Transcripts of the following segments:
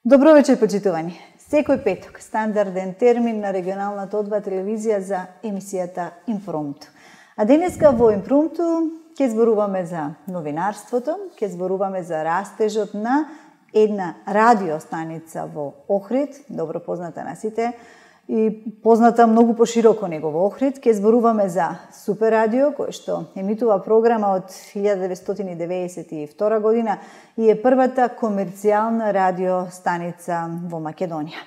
Добро вечер, почитувани. Секој петок, стандарден термин на регионалната одба телевизија за емисијата Импромту. А денеска во Импромту ќе зборуваме за новинарството, ќе зборуваме за растежот на една радиостаница во Охрид, добро позната на сите, и позната многу пошироко него во Охрид. Ќе зборуваме за Супер радио, кој што емитува програма од 1992 година и е првата комерцијална радиостаница во Македонија.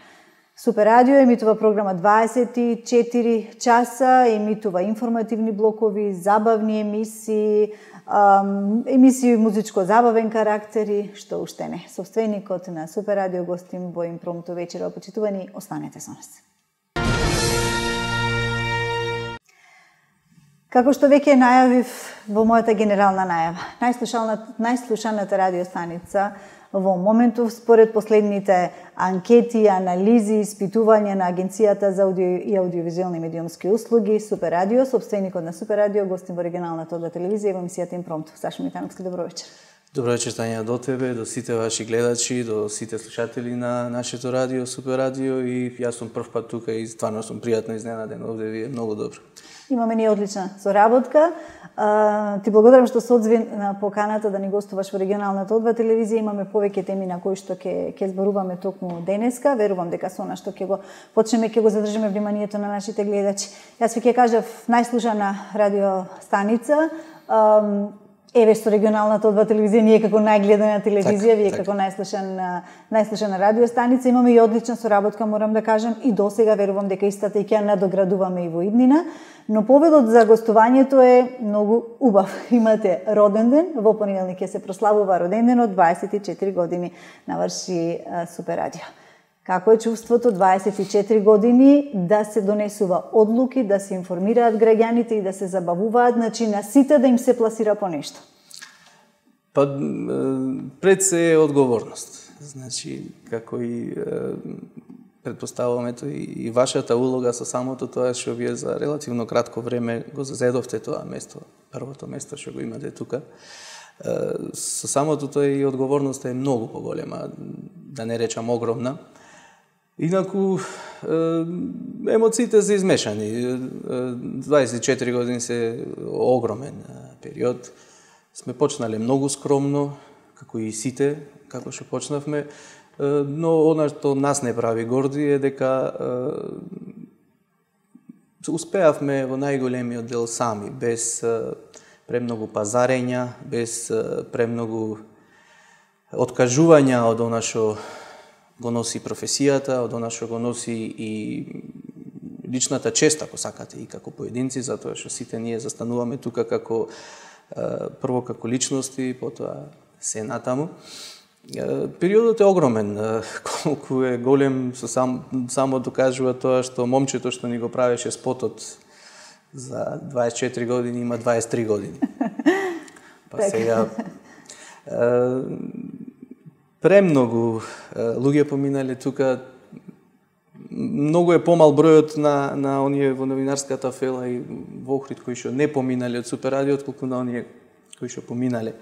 Супер радио емитува програма 24 часа, емитува информативни блокови, забавни емисии, емисии музичко-забавен карактери, што уште не. Собственикот на Супер радио гостим во Импромту вечера. Почитувани, останете со нас. Како што веќе најавив во мојата генерална најава, најслушаната радиостаница во моментов според последните анкети, анализи, испитувања на Агенцијата за аудио и аудиовизуелни медиумски услуги, Супер радио, собственикот на Супер радио, гостим во регионалната одба телевизија во емисијата Импромту. Сашо Митановски, добро вечер. Добро вечер, Тања, до тебе, до сите ваши гледачи, до сите слушатели на нашето радио, Супер радио, и јас сум прв пат тука и стварно сум пријатно изненаден овде, ви е многу добро. Имаме ни одлична соработка. Ти благодарам што се одзви на поканата да ни гостуваш во регионалната одба телевизија. Имаме повеќе теми на кои што ќе зборуваме токму денеска. Верувам дека со она што ќе го почнеме, ќе го задржиме вниманието на нашите гледачи. Јас ви ќе кажав најслушана радиостаница. Еве што регионалната одба телевизија ние како најгледана телевизија, вие како најслушана радиостаница, имаме и одлична соработка, морам да кажам, и досега верувам дека истата и ќе надоградуваме и во иднина, но поводот за гостувањето е многу убав. Имате роден ден, во понеделник ќе се прославува роден ден, од 24 години наврши Супер радио. Како е чувството 24 години да се донесува одлуки, да се информираат граѓаните и да се забавуваат, значи на сите да им се пласира по нешто? Па пред се е одговорност. Значи, како и предпоставуваме и вашата улога со самото тоа што вие за релативно кратко време го зазедовте тоа место, првото место што го имате тука. Со самото тоа и одговорноста е многу поголема, да не речам огромна. Инаку, емоциите се измешани. 24 години се огромен период. Сме почнале многу скромно, како и сите, како што почнавме, но она што нас не прави горди е дека успеавме во најголемиот дел сами, без премногу пазарења, без премногу откажувања од она што го носи професијата, од она што го носи и личната чест, ако сакате, и како поединци, затоа што сите ние застануваме тука како прво како личности, потоа се натаму. Периодот е огромен, колку е голем, само докажува тоа што момчето што ни го правеше спотот за 24 години има 23 години. Па сега премногу луѓе поминале тука. Многу е помал бројот на оние во новинарската фела и во Охрид кои што не поминале од Супер радио, отколку на оние кои што поминале.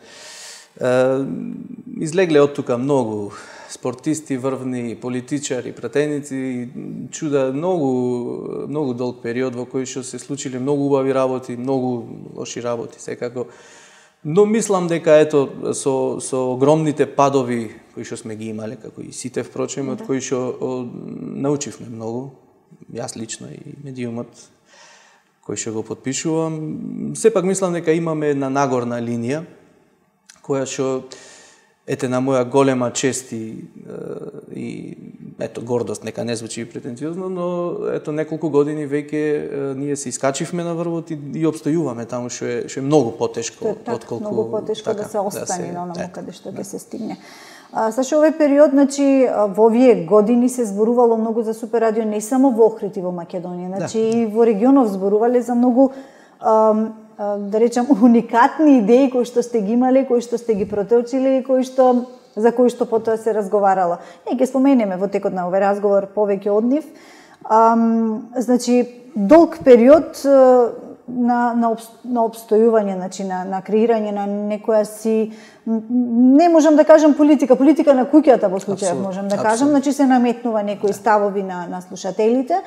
Излегле од тука многу спортисти, врвни политичари, пратеници, чуда многу долг период во кој што се случиле многу убави работи, многу лоши работи, секако. Но мислам дека ето со огромните падови кои што сме ги имале, како и сите впрочем, од кои што научивме многу, јас лично и медиумот кој што го потпишувам, сепак мислам дека имаме една нагорна линија која што ете на моја голема чест и ето гордост, нека не звучи претенциозно, но ето неколку години веќе ние се искачивме на врвот и обстојуваме таму што е многу потешко отколку многу потешко да се остане на онаму каде што ќе се стигне. Сашо, овој период, значи, во овие години се зборувало многу за Супер радио не само во Охрид и во Македонија, значи и во регионов зборувале за многу да речам уникатни идеи кои што сте ги имале, кои што сте ги проточиле и за кои што потоа се разговарало. Ние ќе споменеме во текот на овој разговор повеќе од нив. Значи, долг период на обстојување, значи на креирање на некоја си, не можам да кажам политика на куќата во случајот можам да кажам, значи се наметнува некои ставови на слушателите.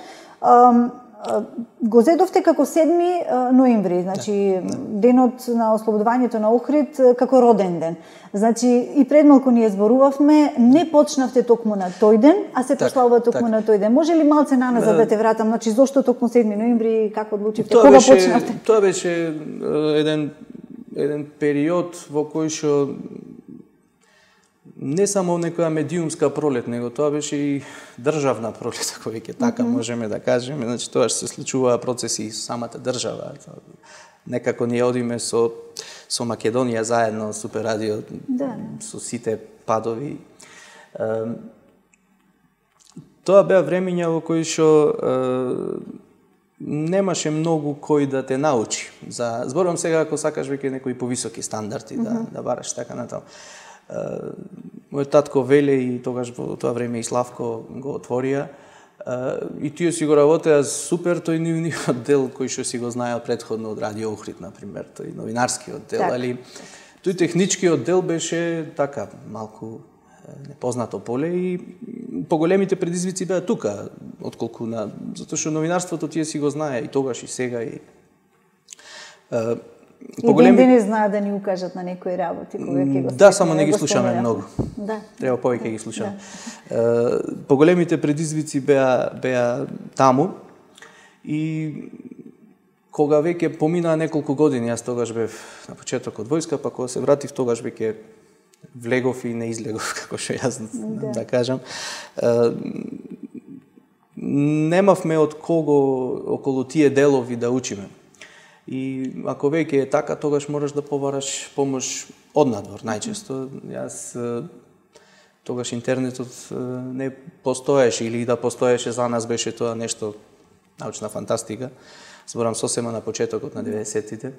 Го зедовте како 7 ноември, значи денот на ослободувањето на Охрид како роден ден. Значи и пред малку ние зборувавме, не почнавте токму на тој ден, а се прославува токму на тој ден. Може ли малце наназад да те вратам, значи зошто токму 7 ноември, како одлучивте, кога почнавте? Тоа беше еден период во кој што не само некоја медиумска пролет, него тоа беше и државна пролет, ако веќе така можеме да кажеме. Значи тоа што се случуваа процеси и со самата држава. Некако ние одиме со Македонија заедно, Супер радио, со сите падови. Тоа беа времења во кои што немаше многу кој да те научи. Зборувам сега ако сакаш веќе некои повисоки стандарди да бараш така натаму. Мојот татко Веле и тогаш во тоа време и Славко го отворија и тие си го работеа супер, тој нивниот дел кој што си го знаел предходно од Радио Охрид, например, тој новинарскиот дел, али тој техничкиот дел беше така малку непознато поле и поголемите предизвици беа тука, отколку затоа што новинарството тие си го знае и тогаш и сега и ден денес знаат да ни укажат на некои работи кога ќе го. Да, само не ги слушаме многу. Да. Треба повеќе ги слушаме. Поголемите предизвици беа таму и кога веќе поминаа неколку години, јас тогаш бев на почетокот војска, па кога се вратив тогаш веќе влегов и не излегов, како што јас да кажам. Немавме од кого околу тие делови да учиме. И ако веќе е така, тогаш можеш да побараш помош однадвор, најчесто. Јас тогаш интернетот не постоеше или да постоеше за нас беше тоа нешто научна фантастика. Зборам сосема на почетокот на 90-тите.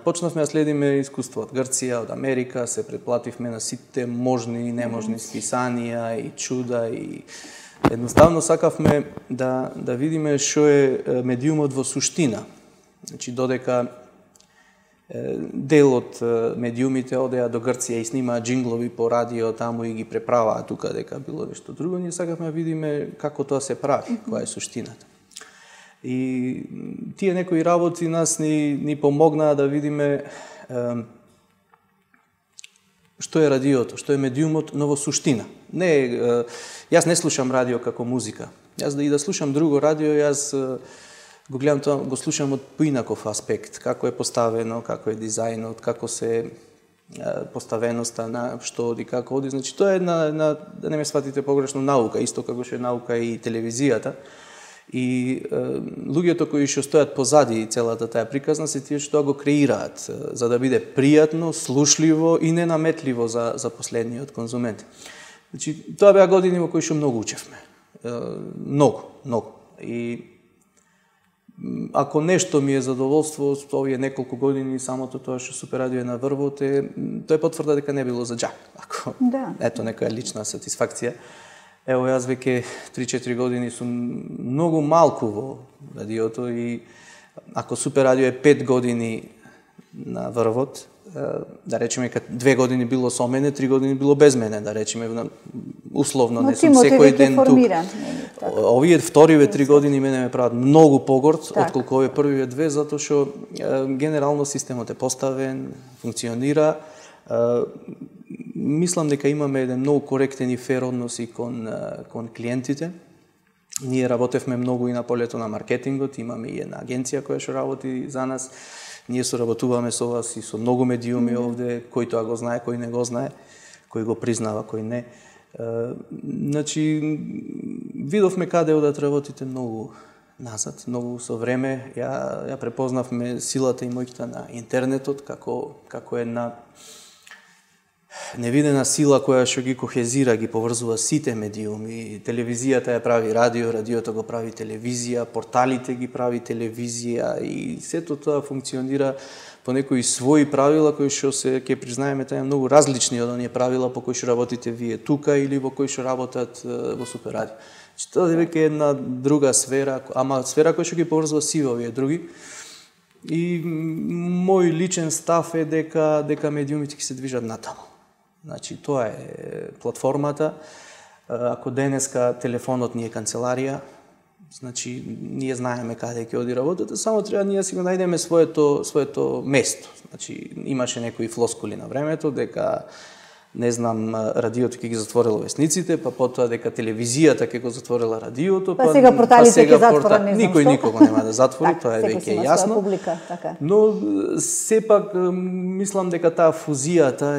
Почнавме да следиме искуство од Грција, од Америка, се претплативме на сите можни и неможни списанија и чуда и едноставно сакавме да видиме што е медиумот во суштина. Значи, додека дел од медиумите одеа до Грција и снимаа джинглови по радио таму и ги преправаа тука дека било нешто друго, ние сакавме да видиме како тоа се прави, која е суштината. И тие некои работи нас ни помогнаа да видиме што е радиото, што е медиумот, но во суштина. Јас не слушам радио како музика. Јас да слушам друго радио, јас го гледам тоа, го слушам од поинаков аспект, како е поставено, како е дизајнот, како се поставеноста на што оди, како оди. Значи тоа е да не ме сватите погрешно, наука, исто како што е наука и телевизијата. И луѓето кои што стојат позади целата таа приказна се тие што го креираат за да биде пријатно, слушливо и ненаметливо за последниот конзумент. Значи тоа беа години во кои што многу учевме. Многу. И ако нешто ми е задоволство со овие неколку години, самото тоа што Супер радио е на врвот, тоа е потврда дека не било за џак. Ето некоја лична сатисфакција. Ево, јас веќе 3-4 години сум многу малку во радиото и ако Супер радио е 5 години на врвот, да речеме, 2 години било со мене, 3 години било без мене, да речеме, условно, не сум секој ден тук. Овие вториве 3 години мене ме прават многу погорд, отколку овие првиве 2, затоа што генерално системот е поставен, функционира. Мислам дека имаме еден многу коректен и фер однос и кон клиентите. Ние работевме многу и на полето на маркетингот, имаме и една агенција која што работи за нас. Ние соработуваме со вас и со многу медиуми овде, кој тоа го знае, кој не го знае, кој го признава, кој не. Значи, видовме каде одат работите многу назад, многу со време. Ја препознавме силата и моќта на интернетот како една невидена сила која што ги кохезира, ги поврзува сите медиуми. Телевизијата ја прави радио, радиото го прави телевизија, порталите ги прави телевизија и сето тоа функционира по некои своји правила кои што се ќе признаеме таа многу различни од оние правила по кои што работите вие тука или во кои што работат во Супер радио. Тоа е веќе една друга сфера, ама сфера која што ги поврзува сива овие други. И мој личен став е дека медиумите ќе се движат натаму. Значи, тоа е платформата. Ако денеска телефонот ни е канцеларија, значи, ние знаеме каде ќе оди работата, само треба ние си го најдеме своето место. Значи, имаше некои флоскули на времето, дека не знам, радиото ќе ги затворило весниците, па потоа дека телевизијата ќе го затворила радиото, па сега порталите ќе затворат, не знам никој никого нема да затвори, тоа е веќе јасно. Публика, така. Но сепак мислам дека таа фузијата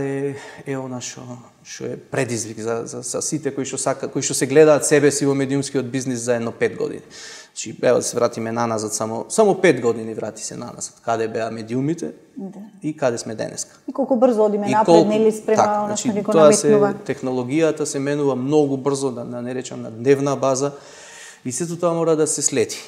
е она што е предизвик за сите кои што се гледаат себе си во медиумскиот бизнис за едно 5 години. Значи, ево да се вратиме наназад, само 5 години врати се наназад. Каде беа медиумите и каде сме денеска. И колку брзо одиме напред, нели спрема она што ни го наметнува. Технологијата се менува многу брзо, да не речам на дневна база, и сето тоа мора да се следи.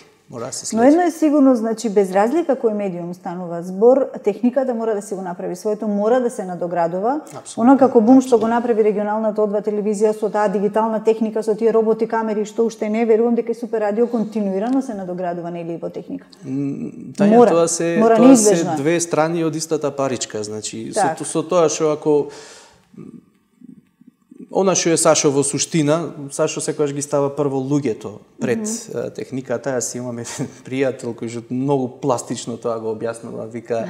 Но едно е сигурно, значи, без разлика кој медиум станува збор, техниката мора да си го направи своето, мора да се надоградува. Она како бум што го направи регионалната одва телевизија со таа дигитална техника, со тие роботи, камери, што уште не, верувам дека Супер радио континуирано се надоградува, нели, во техника. Тања, тоа се две страни од истата паричка, значи, со тоа што ако она што е Сашо во суштина, Сашо секогаш ги става прво луѓето пред техниката. Јас имам еден пријател кој што многу пластично тоа го објаснува, вика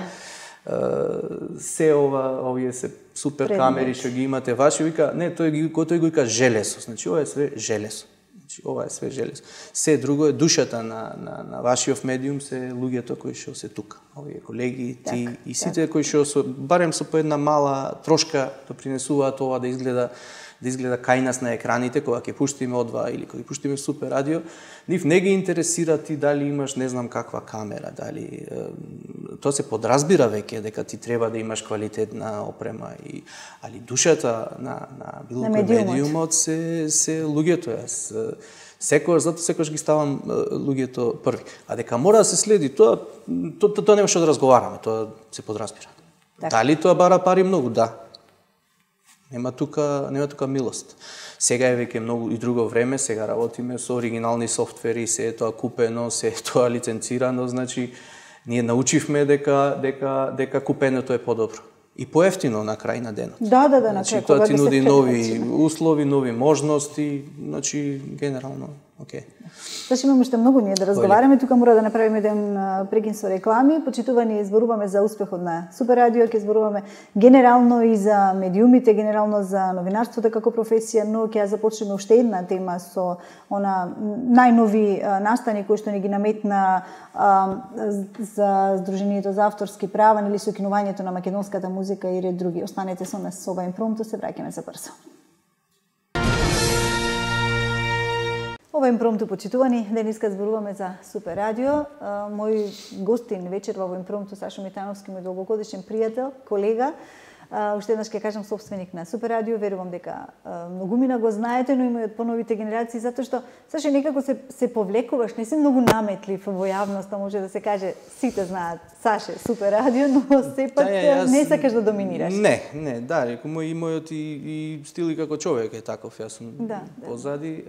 се овие се супер камери што ги имате ваши, вика, не, тој го вика желесо, значи ова е све желесо. Значи ова е све желесо. Се друго е душата на вашиот медиум, се луѓето кои што се тука. Овие колеги, ти и сите кои што барем со по една мала трошка допринесуваат ова да изгледа кај нас на екраните, кога ќе пуштиме одва или кога ќе пуштиме Супер радио, нив не ги интересира ти дали имаш не знам каква камера, дали тоа се подразбира веќе дека ти треба да имаш квалитетна опрема али душата на било кој медиумот се луѓето. Јас секогаш ги ставам луѓето први. А дека мора да се следи тоа нема што да разговараме, тоа се подразбира. Дали тоа бара пари многу? Да. Нема тука милост. Сега е веќе многу и друго време, сега работиме со оригинални софтвери, се е тоа купено, се е тоа лиценцирано, значи ние научивме дека купеното е подобро. И поевтино на крај на денот. Да, на крај. Тоа ти нуди нови услови, нови можности, значи генерално, окей. Значи имаме уште многу ние да разговараме, тука мора да направиме еден прекин со реклами. Почитувани, зборуваме за успехот на Супер радио, ќе зборуваме генерално и за медиумите, генерално за новинарството како професија, но ќе започнеме уште една тема со она најнови настани кои што ни ги наметна за Сдруженијето за авторски права или сокинувањето на македонската музика и ред други. Останете со нас со ова импромто, се враќаме за брзо. Ова импромто, почитувани, денеска зборуваме за Супер радио. Мој гостин вечер во импромто Сашо Митановски, мој долгогодишен пријател, колега. Уште еднаш ќе кажам собственик на Супер радио, верувам дека многумина го знаете, но има и од поновите генерации, затоа што Сашо некако се повлекуваш, не си многу наметлив во јавноста, може да се каже, сите знаат Саше Супер радио, но сепак не сакаш да доминираш. Не, да, реку мојот и стил и како човек е таков, јас сум позади.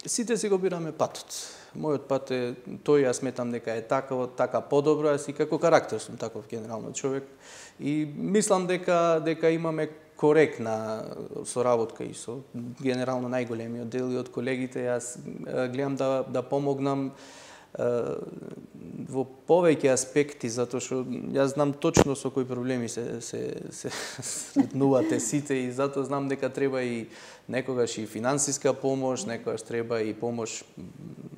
Сите си го бираме патот. Мојот пат е тој, јас сметам дека е така подобро, јас и како карактер сум таков генерално човек. И мислам дека имаме коректна соработка и со генерално најголемиот дел и од колегите. Јас гледам да помогнам во повеќе аспекти, затоа што јас знам точно со кои проблеми се сретнувате сите и затоа знам дека треба и некогаш и финансиска помош, некогаш треба и помош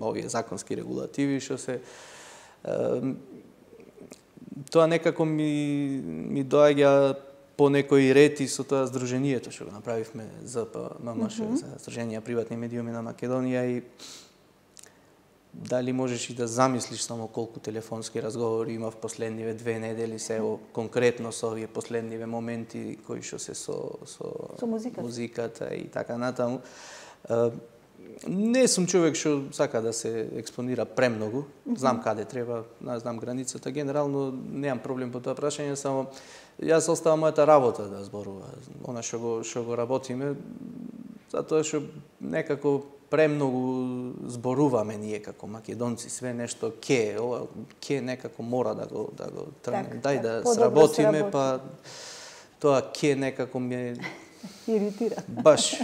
овие законски регулативи што се тоа некако ми доаѓа по некој ред и со тоа здруженијето што го направивме ЗПММШ, за Здружение приватни медиуми на Македонија, и дали можеш и да замислиш само колку телефонски разговори има в последниве 2 недели, се конкретно со овие последниве моменти кои што се со музиката и така натаму. Не сум човек што сака да се експонира премногу, знам каде треба, знам границата, генерално немам проблем по тоа прашање, само јас оставам мојата работа да зборува, она што го работиме, затоа што некако премногу зборуваме ние како македонци, све нешто ова некако мора да го тргнем. Дај да сработиме, па тоа некако ме иритира. Баш.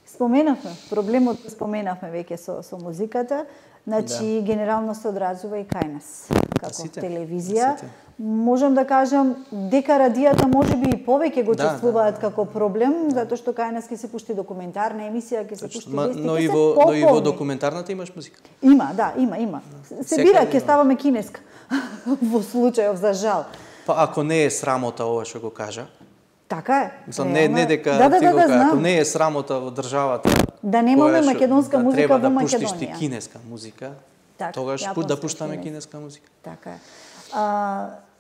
Споменавме, проблемот споменавме веќе со музиката, значи генерално се одразува и кај нас како телевизија. Можам да кажам дека радијата можеби и повеќе го чувствуваат како проблем, затоа што кај нас ќе се пушти документарна емисија, ќе се пушти вести, но и во документарната имаш музика. Има. Се бира, ќе ставаме кинеска во случајов за жал. Па ако не е срамота ова што го кажа. Така е. Не дека ти го кажа, ако не е срамота во државата. Да немаме македонска музика во Македонија. Треба да пуштиш ти кинеска музика. Тогаш да пуштаме кинеска музика. Така е.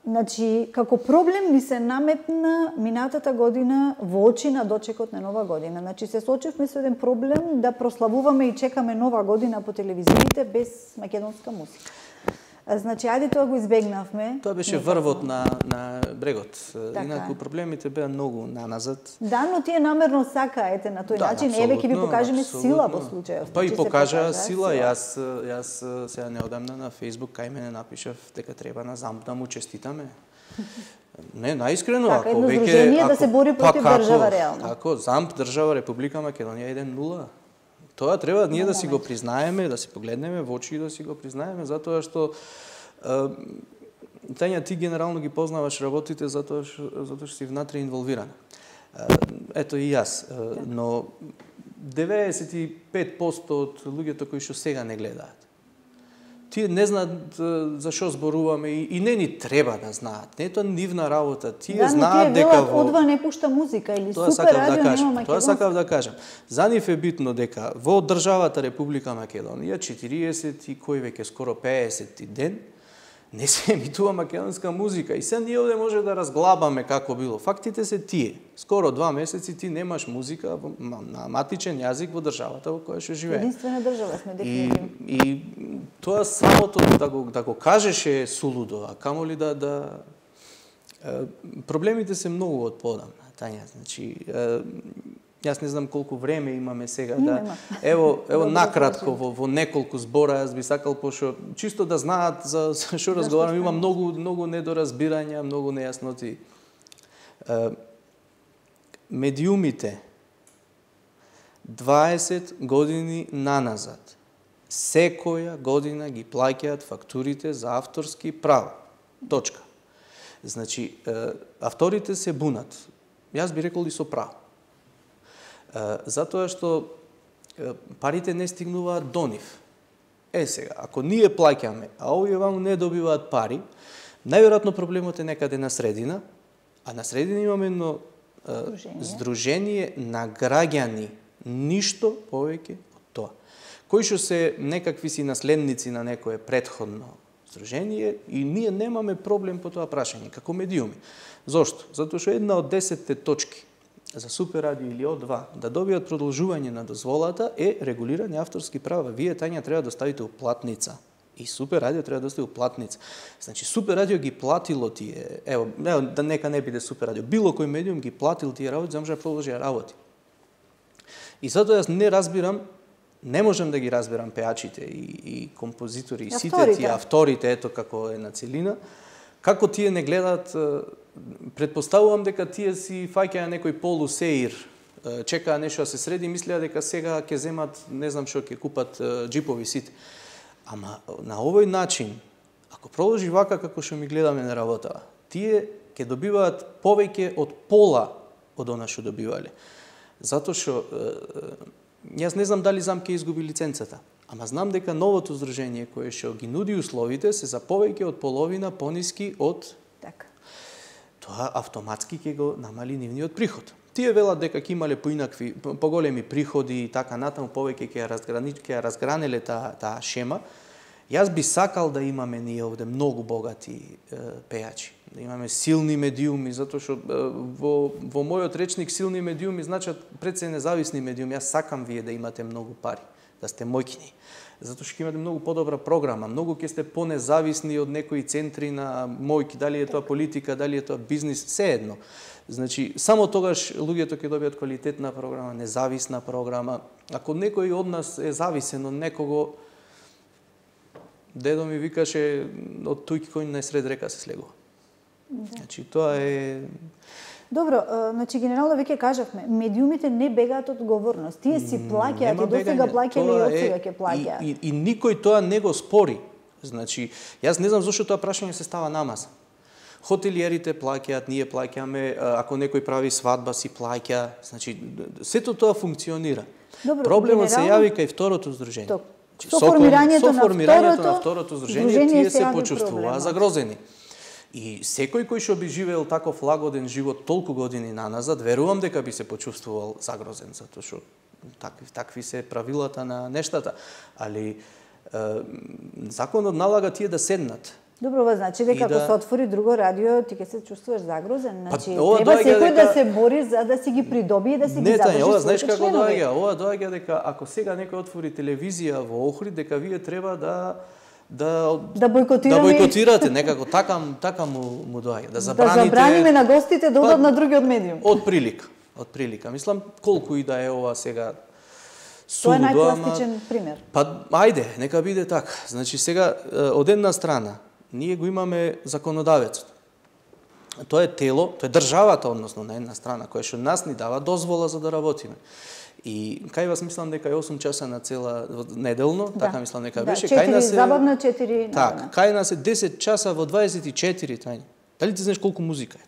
Значи, како проблем ни се наметна минатата година во очи на дочекот на нова година. Значи, се соочивме со еден проблем да прославуваме и чекаме нова година по телевизиите без македонска музика. Значи, ајде тоа го избегнавме. Тоа беше врвот на брегот. Инаку проблемите беа многу наназад. Да, но тие намерно сакаете на тој начин. Еве ќе ви покажеме сила во случајот. Па и покажа сила. Јас сега неодамна на Facebook кај мене напишав дека треба на ЗАМП да му честитаме. Не, наискрено, така, ако веќе да се бори против држава реално. Ако ЗАМП држава Република Македонија 1-0. Тоа треба ние да си го признаеме, да се погледнеме во очи и да си го признаеме, затоа што Тања, ти генерално ги познаваш работите затоа што си внатре инволвирана. Ето и јас, но 95% од луѓето кои што сега не гледаат, тие не знаат за што зборуваме и не ни треба да знаат. Не е тоа нивна работа. Тие знаат дека одва не пушта музика или супер радио нема македонски. Тоа сакав да кажам. За нив е битно дека во државата Република Македонија 40 и кој веќе скоро 50 ден не се емитува македонска музика. И се ние овде може да разглабаме како било. Фактите се тие. Скоро 2 месеци ти немаш музика на матичен јазик во државата во која што живееш. Единствена држава сме дефинитивно. И тоа самото да го кажеш е сулудо, а камоли да проблемите се многу од подамна, Тања. Значи, јас не знам колку време имаме сега да ево накратко во неколку збора јас би сакал пошто чисто да знаат за што разговараме, има многу недоразбирања, многу нејасноти. Медиумите 20 години наназад секоја година ги плаќаат фактурите за авторски права. Точка. Значи, авторите се бунат. Јас би рекол и со право. Затоа што парите не стигнуваат до нив. Сега, ако ние плаќаме, а овие ваму не добиваат пари, најверојатно проблемот е некаде на средина, а на средина имаме едно здружение на граѓани, ништо повеќе од тоа, кои што се некакви си наследници на некое претходно здружение и ние немаме проблем по тоа прашање, како медиуми. Зошто? Затоа што една од 10 точки за Супер радио или О2 да добијат продолжување на дозволата е регулирање авторски права. Вие, Тања, треба да ставите уплатница. И Супер радио треба да стави уплатница. Значи, Супер радио ги платило тие, да нека не биде Супер радио, било кој медиум ги платил тие работи, за може да продолжи работи. И затоа јас не разбирам, не можам да ги разбирам пеачите и композитори, и сите тие авторите, ето како е на целина, како тие не гледаат. Предпоставувам дека тие си фаќаја некој полусеир, чекаа нешто да се среди и мислеа дека сега ќе земат, не знам што, ќе купат џипови сите. Ама на овој начин, ако продолжи вака како што ми гледаме на работа, тие ќе добиваат повеќе од пола од она што добивале. Затоа што јас не знам дали ЗАМП ќе изгуби лиценцата, ама знам дека новото здружение кое што ги нуди условите се за повеќе од половина пониски од тоа автоматски ќе го намали нивниот приход. Тие велат дека ќе имале поинакви, поголеми приходи и така натаму, повеќе ќе ја разгранеле таа шема. Јас би сакал да имаме ние овде многу богати пејачи, да имаме силни медиуми, затоа што во мојот речник силни медиуми значат пред се независни медиуми. Јас сакам вие да имате многу пари, да сте моќни. затоа што ќе имате многу подобра програма, многу ќе сте понезависни од некои центри на мојки, дали е тоа политика, дали е тоа бизнис, се едно. Значи, само тогаш луѓето ќе добијат квалитетна програма, независна програма. Ако некој од нас е зависен од некого, дедо ми викаше од туѓ кој најсред река се слегува. Значи, тоа е... Добро, значи генерално веќе кажавме, медиумите не бегаат од одговорност. Тие си плаќаат и досега плаќале и отсега ќе плаќаат. И никој тоа не го спори. Значи, јас не знам зошто тоа прашање се става намаса. Хотелиерите плаќаат, ние плаќаме, ако некој прави свадба си плаќа, значи сето тоа функционира. Добро, проблемот се јави кај второто здружение. Со формирањето на второто здружение тие се почувствуваа загрозени. И секој кој што би живеел таков лагоден живот толку години наназад, верувам дека би се почувствувал загрозен, затоа што такви се правилата на нештата. Али законот налага тие да седнат. Добро, ова значи дека ако се отвори друго радио, ти ќе се чувствуваш загрозен. Значи, треба секој да се бори за да си ги придобие и да си ги задржи ова знаеш како доаѓа? Ова доаѓа дека ако сега некој отвори телевизија во Охрид, дека вие треба да бојкотирате, некако така му доаѓа, да забраниме на гостите да одат на другиот медиум. Од прилика. Мислам колку и да е ова сега тоа е најкласичен пример. Па ајде, нека биде така. Значи сега од една страна ние го имаме законодавецот. Тоа е тело, тоа е државата, односно на една страна, која што нас ни дава дозвола за да работиме. И кај вас мислам дека е 8 часа на цела неделно, така мислам дека беше. 4 забавна, 4 така, кај нас е 10 часа во 24 тајни. Дали ти знаеш колку музика е?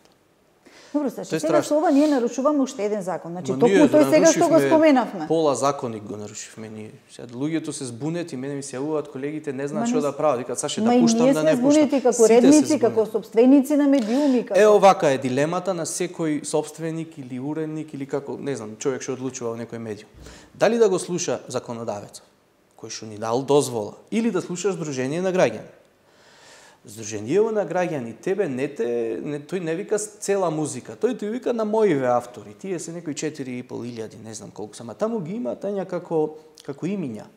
Добро, Сашо, сега со ова ние нарушуваме уште еден закон. Значи, токму тој сега што го споменавме. Пола законник го нарушивме ние. Сега луѓето се збунет и мене ми се јавуваат колегите, не знаат што да прават. Викаат, Саше, да пуштам, да не пуштам. Ние сме збунети како редници, како сопственици на медиуми. Овака е дилемата на секој сопственик или уредник или како, не знам, човек што одлучува во некој медиум. Дали да го слуша законодавецот, кој што ни дал дозвола, или да слуша Сдружение на граѓани. Сдруженијево на граѓани, тебе тој не вика цела музика, тој ти вика на моиве автори, тие се некои 4.500, не знам колку сама, таму ги има тања како имиња.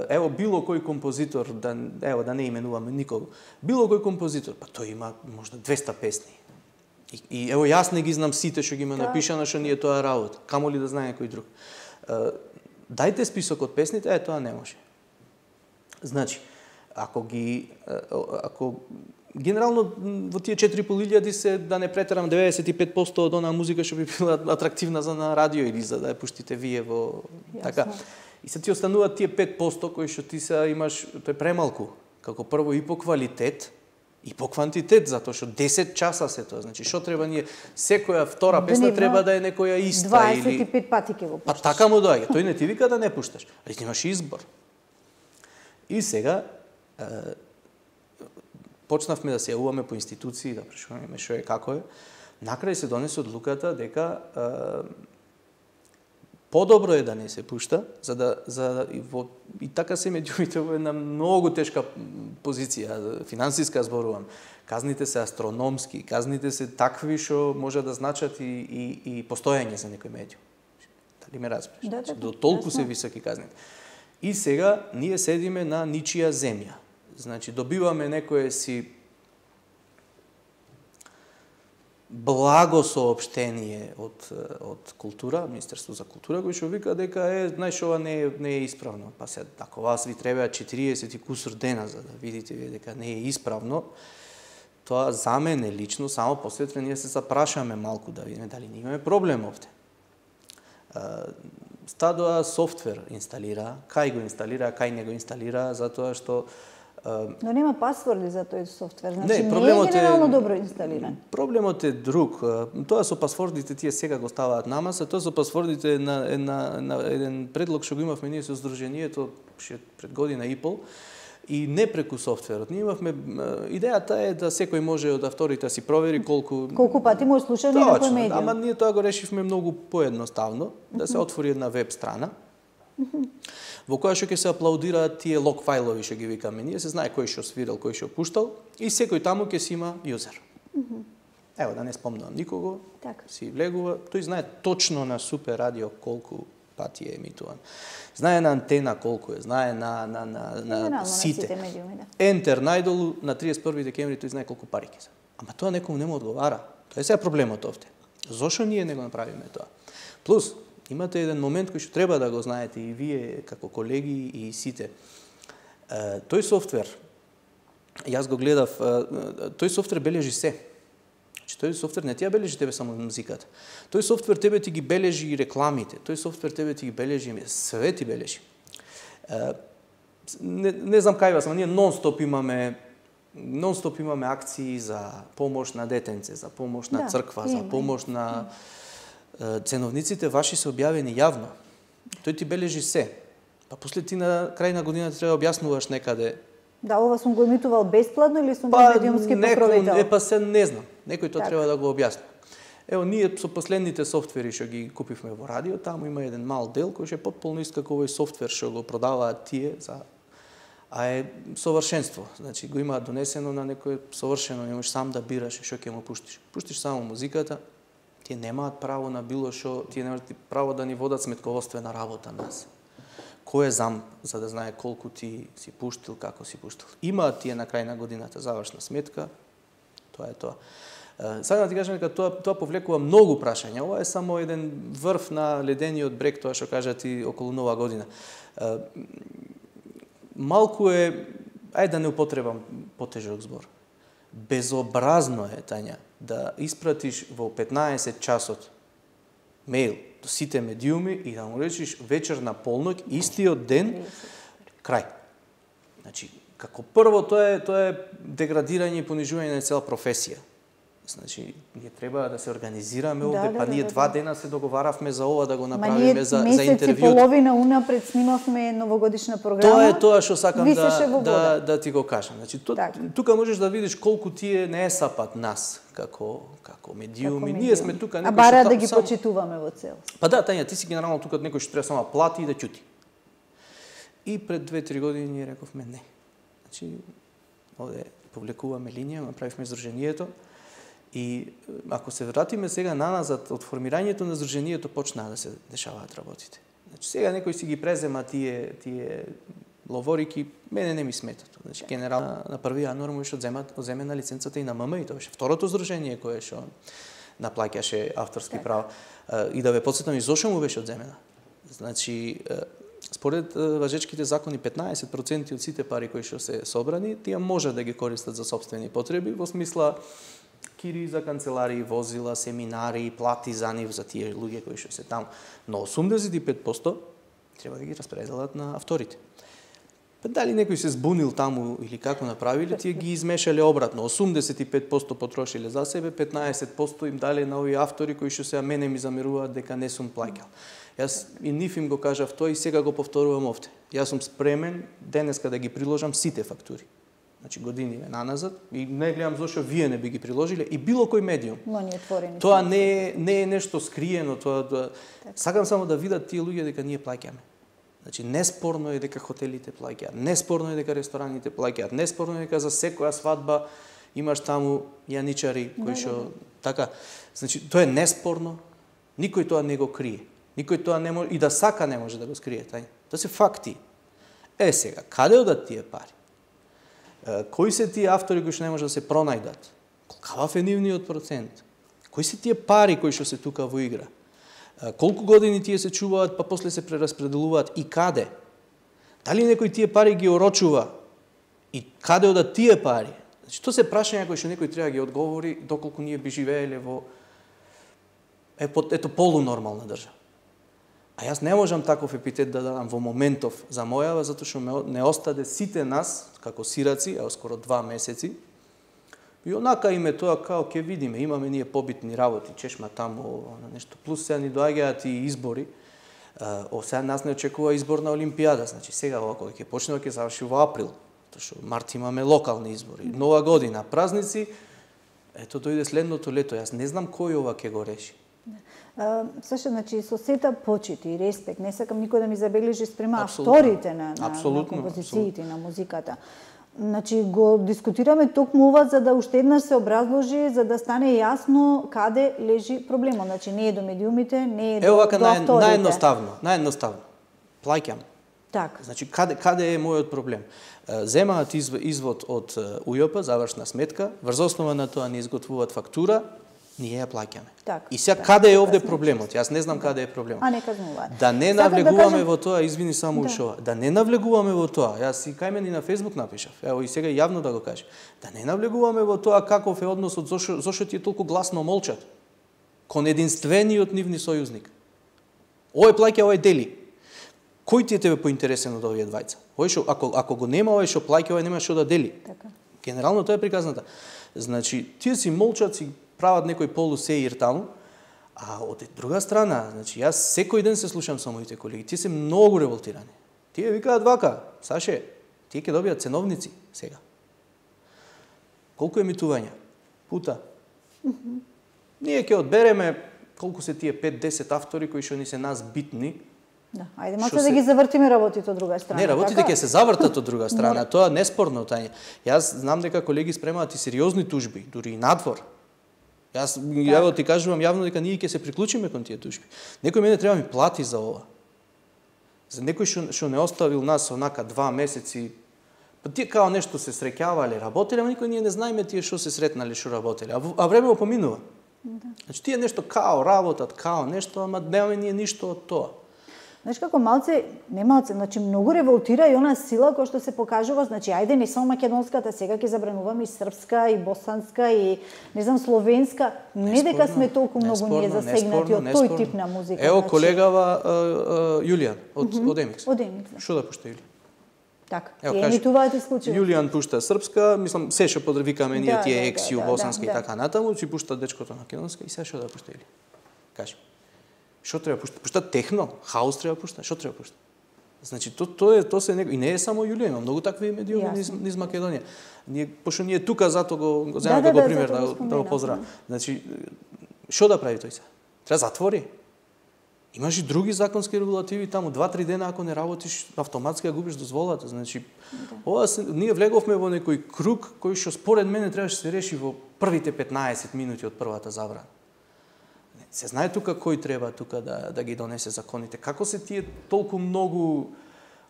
Ево, било кој композитор, да не именуваме никого, било кој композитор, па тој има можда 200 песни. И ево, јас не ги знам сите што ги има напишано, што ние тоа работа, камо ли да знае некој друг. Дајте список од песните, тоа не може. Значи, ако генерално во тие 4.500 се, да не претерам, 95% од онаа музика што би била атрактивна за на радио или за да ја пуштите вие во така. И се ти остануваат тие 5% кои што ти се имаш, тоа е премалку, како прво и по квалитет и по квантитет, затоа што 10 часа се тоа. Значи што треба ние, секоја втора песна треба да е некоја иста 25 пати ќе го Па пушташ. така му доаѓа. Тој не ти вика да не пушташ, али ти имаш избор. И сега почнавме да се јавуваме по институции, да прашуваме што е, како е. Накрај се донесе одлуката дека подобро е да не се пушта, и така се медиумите во една многу тешка позиција, финансиска зборувам. Казните се астрономски, казните се такви што може да значат и постојање за некој медиум. Дали ме разбираш? До толку се високи казните. И сега ние седиме на ничија земја. Значи, добиваме некое си благо соопштение од култура, Министерство за култура, кој што вика дека знаеш, ова не е исправно. Па се, ако вас ви треба 40 и кусур дена за да видите дека не е исправно, тоа за мене лично, само после ние се запрашаме малку да видиме дали не имаме проблем овде. Стадоа софтвер инсталира, кај го инсталира, кај не го инсталира, затоа што но нема пасворди за тој софтвер, значи не е генерално добро инсталиран. Проблемот е друг. Тоа со пасвордите тие сега го ставаат намаса, тоа со пасвордите на еден предлог што го имавме ние со Сдруженијето пред година и пол, и не преку софтверот. Ние имавме, идејата е да секој може од авторите да си провери колку пати може слуша на некој медиум. Ама ние тоа го решивме многу поедноставно, да се отвори една веб страна, во која што ќе се аплаудираат тие лог фајлови што ги викаме. Ние се знае кој што свирал, кој што пуштал и секој таму ќе си има јузер. Ево, да не спомнувам никого, си влегува, тој знае точно на Супер радио колку пати е емитуван. Знае на Антена колку е, знае на сите. Ентер најдолу на 31 декември тој знае колку пари ќе се. Ама тоа некому не му одговара. Тоа е сега проблемот овде. Зошто ние не го направиме тоа? Плюс, имате еден момент кој што треба да го знаете и вие како колеги и сите. Тој софтвер, јас го гледав, тој софтвер бележи се. Тој софтвер не ти ја бележи тебе само музиката. Тој софтвер тебе ти ги бележи и рекламите. Тој софтвер тебе ти ги бележи, све ти бележи. Не знам кај вас, ама ние нон-стоп имаме акции за помош на детенце, за помош на црква, за помош на ценовниците ваши се објавени јавно. Тој ти бележи се. Па после ти на крај на годината треба да објаснуваш некаде. Да, ова сум го емитувал бесплатно или сум бил медиумски покровител? Па се не знам. Некој тоа треба да го објасни. Ево, ние со последните софтвери што ги купивме во радио, таму има еден мал дел кој е потполно ист како овој софтвер што го продаваат тие а е совршенство. Значи го имаат донесено на некој совршено, не можеш сам да бираш што ќе му пуштиш. Пуштиш само музиката, тие немаат право на било што, тие немаат право да ни водат сметководствена работа нас. Кој е зам, за да знае колку ти си пуштил, како си пуштил. Имаат тие на крај на годината завршна сметка, тоа е тоа. Сега да ти кажам дека тоа повлекува многу прашања. Ова е само еден врв на ледениот брег, тоа што кажа ти околу Нова година. Малку е, ајде да не употребам потежок збор. Безобразно е, Тања, да испратиш во 15 часот мејл до сите медиуми и да му речиш вечер на полноќ, истиот ден, крај. Значи, како прво, тоа е деградирање и понижување на цела професија. Значи, ние треба да се организираме овде, па ние 2 дена се договаравме за ова да го направиме за интервју. Месец и половина унапред снимавме новогодишна програма. Тоа е тоа што сакам да ти го кажам. Значи, тука можеш да видиш колку тие не е сапат нас како медиуми. Ние сме тука некој што бара да ги почитуваме во целост. Па да, Тања, ти си генерално тука некој што треба само плати и да ќути. И пред 2-3 години ние рековме не. Значи, овде повлекуваме линија, направивме издружението. И ако се вратиме сега наназад, од формирањето на здруженијето почнаа да се дешаваат работите. Значи сега некој си ги презема тие ловорики, мене не ми сметат. Значи генерално на 1 јануар му беше одземена лиценцата и на ММ, и тоа беше второто здружение кое што наплаќаше авторски права. И да ве потсетам и зошто му беше одземена. Значи според важечките закони 15% од сите пари кои што се собрани, тие може да ги користат за сопствени потреби, во смисла кири за канцеларии, возила, семинари, плати за нив за тие луѓе кои што се таму. Но 85% треба да ги распределат на авторите. Па дали некој се збунил таму или како направиле, тие ги измешале обратно. 85% потрошиле за себе, 15% им дале на овие автори кои што сега мене ми замеруваат дека не сум плаќал. Јас и нив им го кажав тоа и сега го повторувам овде. Јас сум спремен денеска да ги приложам сите фактури. Значи години наназад и не гледам зошто вие не би ги приложиле и било кој медиум. Тоа не е нешто скриено, тоа сакам само да видат тие луѓе дека ние плаќаме. Значи неспорно е дека хотелите плаќаат, неспорно е дека рестораните плаќаат, неспорно е дека за секоја свадба имаш таму јаничари кои што така. Значи тоа е неспорно. Никој тоа не го крие. Никој тоа не може и да сака не може да го скрие, Тоа се факти. Сега, каде одат тие пари? Кои се тие автори кои што не може да се пронајдат? Какав е нивниот процент? Кои се тие пари кои што се тука во игра? Колку години тие се чуваат, па после се прераспределуваат и каде? Дали некој тие пари ги орочува? И каде одат тие пари? Значи, тоа се прашања кои што некој треба да ги одговори доколку ние би живееле во полунормална држава. А јас не можам таков епитет да дадам во моментов за мојава, затоа што не остаде сите нас, како сираци, скоро 2 месеци. И онака име тоа, као ќе видиме, имаме ние побитни работи, чешма таму, нешто. Плюс сега ни доаѓаат и избори. Сега нас не очекува изборна олимпијада, значи сега ова кога ќе почне, ќе заврши во април. Тоа што март имаме локални избори. Нова година, празници, ето дојде следното лето. Јас не знам кој ова ќе го реши. Саша, значи, со сета почит и респект, не сакам никој да ми забележи спрема авторите на композициите, на музиката. Значи го дискутираме токму ова за да уште еднаш се образложи, за да стане јасно каде лежи проблемот. Значи не е до медиумите, не е до авторите. Наједноставно. Плаќам. Така. Значи каде е мојот проблем? Земаат извод од УЈП, завршна сметка, врз основа на тоа не изготвуваат фактура, ние ја плаќаме. И сега каде е овде проблемот? Јас не знам каде е проблемот. А не казнуваат. Да не навлегуваме во тоа, извини само ушова. Да не навлегуваме во тоа. Јас и кај мене на Facebook напишав. Ево и сега јавно да го кажам. Да не навлегуваме во тоа каков е односот, зошто тие толку гласно молчат кон единствениот нивни сојузник. Овој плаќа, овој дели. Кој ти е тебе поинтересен од овие двајца? Овој што ако го нема овој што плаќа, овој нема што да дели. Така. Генерално тоа е приказната. Значи, тие си молчат, си прават некој полусеир таму, а од друга страна, значи јас секој ден се слушам со моите колеги, тие се многу револтирани. Тие викаат вака, Саше, тие ќе добијат ценовници сега. Колку емитувања? Пута. Ние ќе одбереме колку се тие 5-10 автори кои што ни се нас битни. Да, ајде маца да ги завртиме работите од друга страна. Не, работите ќе се завртат од друга страна, тоа неспорно тање. Јас знам дека колеги спремаат и сериозни тужби, дури и надвор. Јас ја ти кажувам јавно дека ние ќе се приклучиме кон тие тужби. Некој мене треба ми плати за ова. За некој што не оставил нас онака 2 месеци, па тие као нешто се среќавале, работеле, ама никој ние не знаеме тие што се сретнале, што работеле. А време поминува. Значи тие нешто као работат, као нешто, ама немаме ние ништо од тоа. Знаеш како значи многу револтира и она сила која што се покажува, значи ајде не само македонската, сега ќе забрануваме и српска, и босанска, и не знам словенска, не дека сме толку многу ние засегнати од тој тип на музика. Ево колегава Јулијан од Емикс. Од Емикс. Што да пушта Јулијан? Така, ја емитуваат исклучиво. Јулијан пушта српска, мислам се што подвикаме ние тие ексју босанска и така натаму, си пушта дечкото македонска и се што да пушта Јулијан. Кажи. Што треба пушта? Пушта техно, хаус треба пушта, што треба пушта? Значи тоа се и не е само Јулијан, има многу такви медиуми низ Македонија. Пошто ние тука зато го земаме како пример да го поздравам. Значи што да прави тој се? Треба затвори. Имаш и други законски регулативи таму, 2-3 дена ако не работиш, автоматски ја губиш дозволата. Значи ние влеговме во некој круг кој што според мене требаше да се реши во првите 15 минути од првата забрана. Се знае тука кој треба тука да ги донесе законите. Како се тие толку многу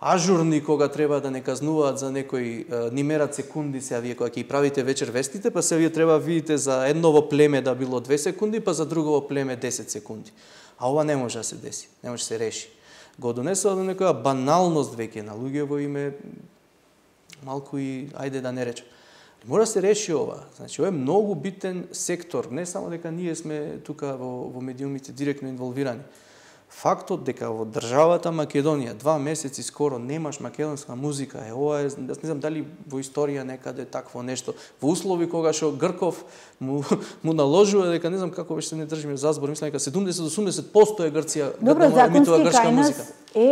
ажурни кога треба да не казнуваат за некој ни мерат секунди се вие кога ќе правите вечер вестите, па се вие треба видите за едново племе да било 2 секунди, па за другово племе 10 секунди. А ова не може да се деси, не може да се реши. Го донесува до некоја баналност веќе на луѓе во име малку и ајде да не речем. Мора да се реши ова. Значи, ова е многу битен сектор. Не само дека ние сме тука во медиумите директно инволвирани. Фактот дека во државата Македонија 2 месеци скоро немаш македонска музика, ова е, не знам дали во историја некаде такво нешто. Во услови кога што Грков му наложува дека не знам како беше не држиме за збор, мислам дека 70-80% е Грција да емитува грчка музика.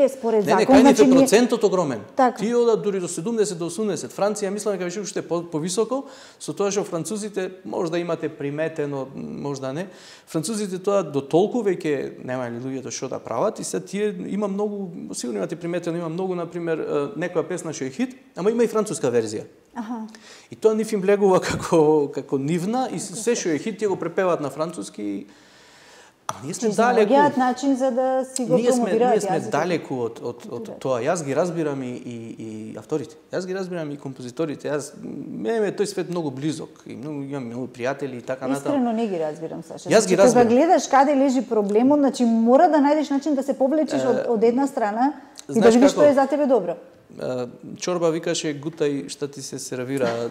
Според закон, кајните процентот огромен. Тие одат дури до 70 до 80. Франција мислам дека беше уште повисоко, со тоа што французите можда имате приметено, можда не. Французите тоа до толку веќе немаат луѓето што да прават и се тие има многу, сигурно имате приметено, има многу на пример некоја песна што е хит, ама има и француска верзија. И тоа нив им влегува како нивна и се што е хит тие го препеваат на француски. Ние сме далеку. Начин за да си го промовираат. Ние сме далеку од тоа. Јас ги разбирам и авторите. Јас ги разбирам и композиторите. Мене тој свет многу близок и имам многу пријатели и така натаму. Искрено не ги разбирам, Саша. Јас ги разбирам. Кога гледаш каде лежи проблемот, значи мора да најдеш начин да се повлечеш од една страна и да видиш што е за тебе добро. Чорба викаше гутај што ти се сервира.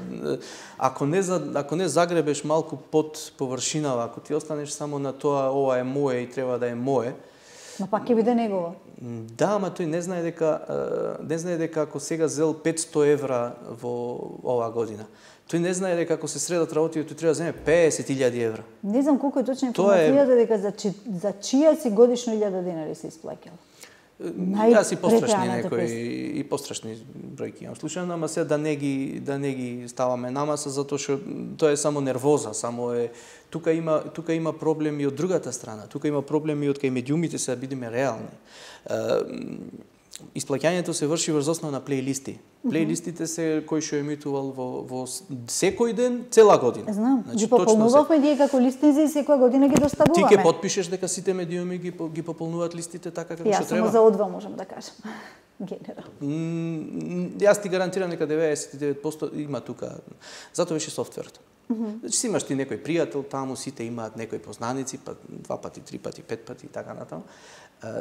Ако не загребеш малку под површинава, ако ти останеш само на тоа ова е мое и треба да е мое. Но пак ќе биде негово. Да, ама тој не знае дека ако сега зел 500 евра во оваа година. Тој не знае дека ако се средат работи, тој треба да земе 50.000 евра. Не знам колку е точна информацијата дека за чија си годишно 1000 денари се исплаќал. Јас и пострашни бројки имам слушано, ама се да не ги ставаме на маса затоа што тоа е само нервоза, само е тука има проблеми од другата страна. Тука има проблеми од кај медиумите се да бидеме реални. Исплаќањето се врши врз основа на плейлисти. Плейлистите се кои што емитувал во секој ден, цела година. Знам, ги пополнувавме ние како листници и секоја година ги доставуваме. Ти ќе потпишеш дека сите медиуми ги пополнуваат листите така како што треба? Јас само за одва можам да кажам. Генерално. Јас ти гарантирам дека 99% има тука. Затоа беше софтверот. Значи си имаш ти некој пријател таму, сите имаат некои познаници, па 2 пати, 3 пати, 5 пати и така натаму.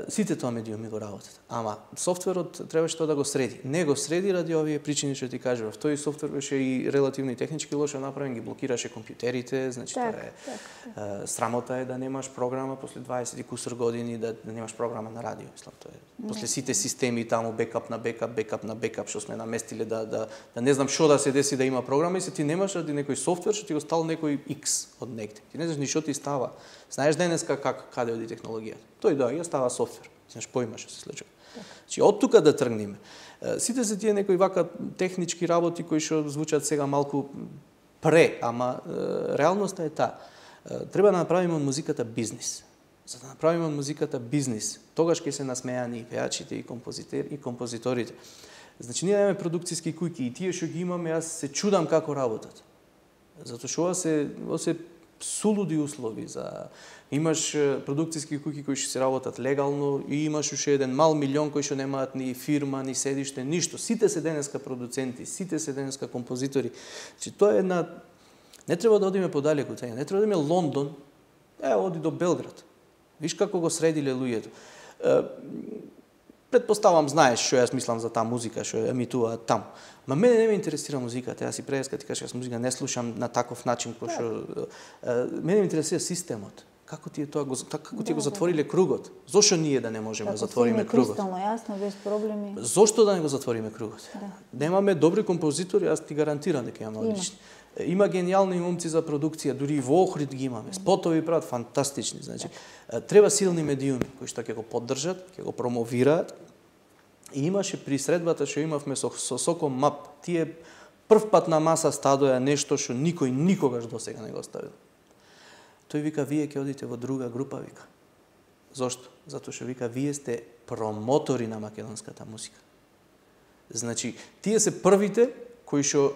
Сите тоа медиуми го работат. Ама софтверот требаше тоа да го среди. Не го среди ради овие причини што ти кажував. Тој софтвер беше и релативно и технички лошо направен, ги блокираше компјутерите, значи тоа е срамота е да немаш програма после 20 и кусур години да немаш програма на радио, мислам тоа е. После сите системи таму бекап на бекап што сме наместиле да не знам што да се деси да има програма и се ти немаш ради некој софтвер што ти го стал некој X од негде. Ти не знаеш ни што ти става. Знаеш денеска каде оди технологијата. Тој доаѓа, става софтвер. Знаеш поима што се случува. Значи од тука да тргнеме. Сите се тие некои вака технички работи кои што звучат сега малку ама реалноста е таа. Треба да направиме од музиката бизнис. За да направиме од музиката бизнис, тогаш ќе се насмејани и пејачите и композиторите. Значи ние имаме продукциски куќи и тие што ги имаме, јас се чудам како работат. Затоа што ова се сулуди услови за имаш продукциски куќи кои што се работат легално и имаш уште еден мал милион кои што немаат ни фирма, ни седиште, ништо. Сите се денеска продуценти, сите се денеска композитори. Значи тоа е една не треба да одиме подалеку тега, не треба да одиме Лондон, оди до Белград. Виш како го средиле луѓето. Предпоставам знаеш што јас мислам за таа музика што емитуваат таму. Ма мене не ме интересира музиката. Јас и преска ти кажам, јас музика не слушам на таков начин кој што мене ме интересира системот. Како ти го затвориле кругот? Зошто ние да не можеме да затвориме кругот? Кристално јасно, без проблеми. Зошто да не го затвориме кругот? Немаме добри композитори, јас ти гарантирам дека имаме одлични. Има гениални момци за продукција, дури и во Охрид ги имаме. Спотови прават фантастични, значи треба силни медиуми кои што ќе го поддржат, ќе го промовираат. И имаше при средбата што имавме со Соком МАП, тие прв пат на маса стадоја нешто што никој никогаш досега не го ставил. Тој вика, вие ќе одите во друга група, вика. Зошто? Затоа што вика, вие сте промотори на македонската музика. Значи, тие се првите кои што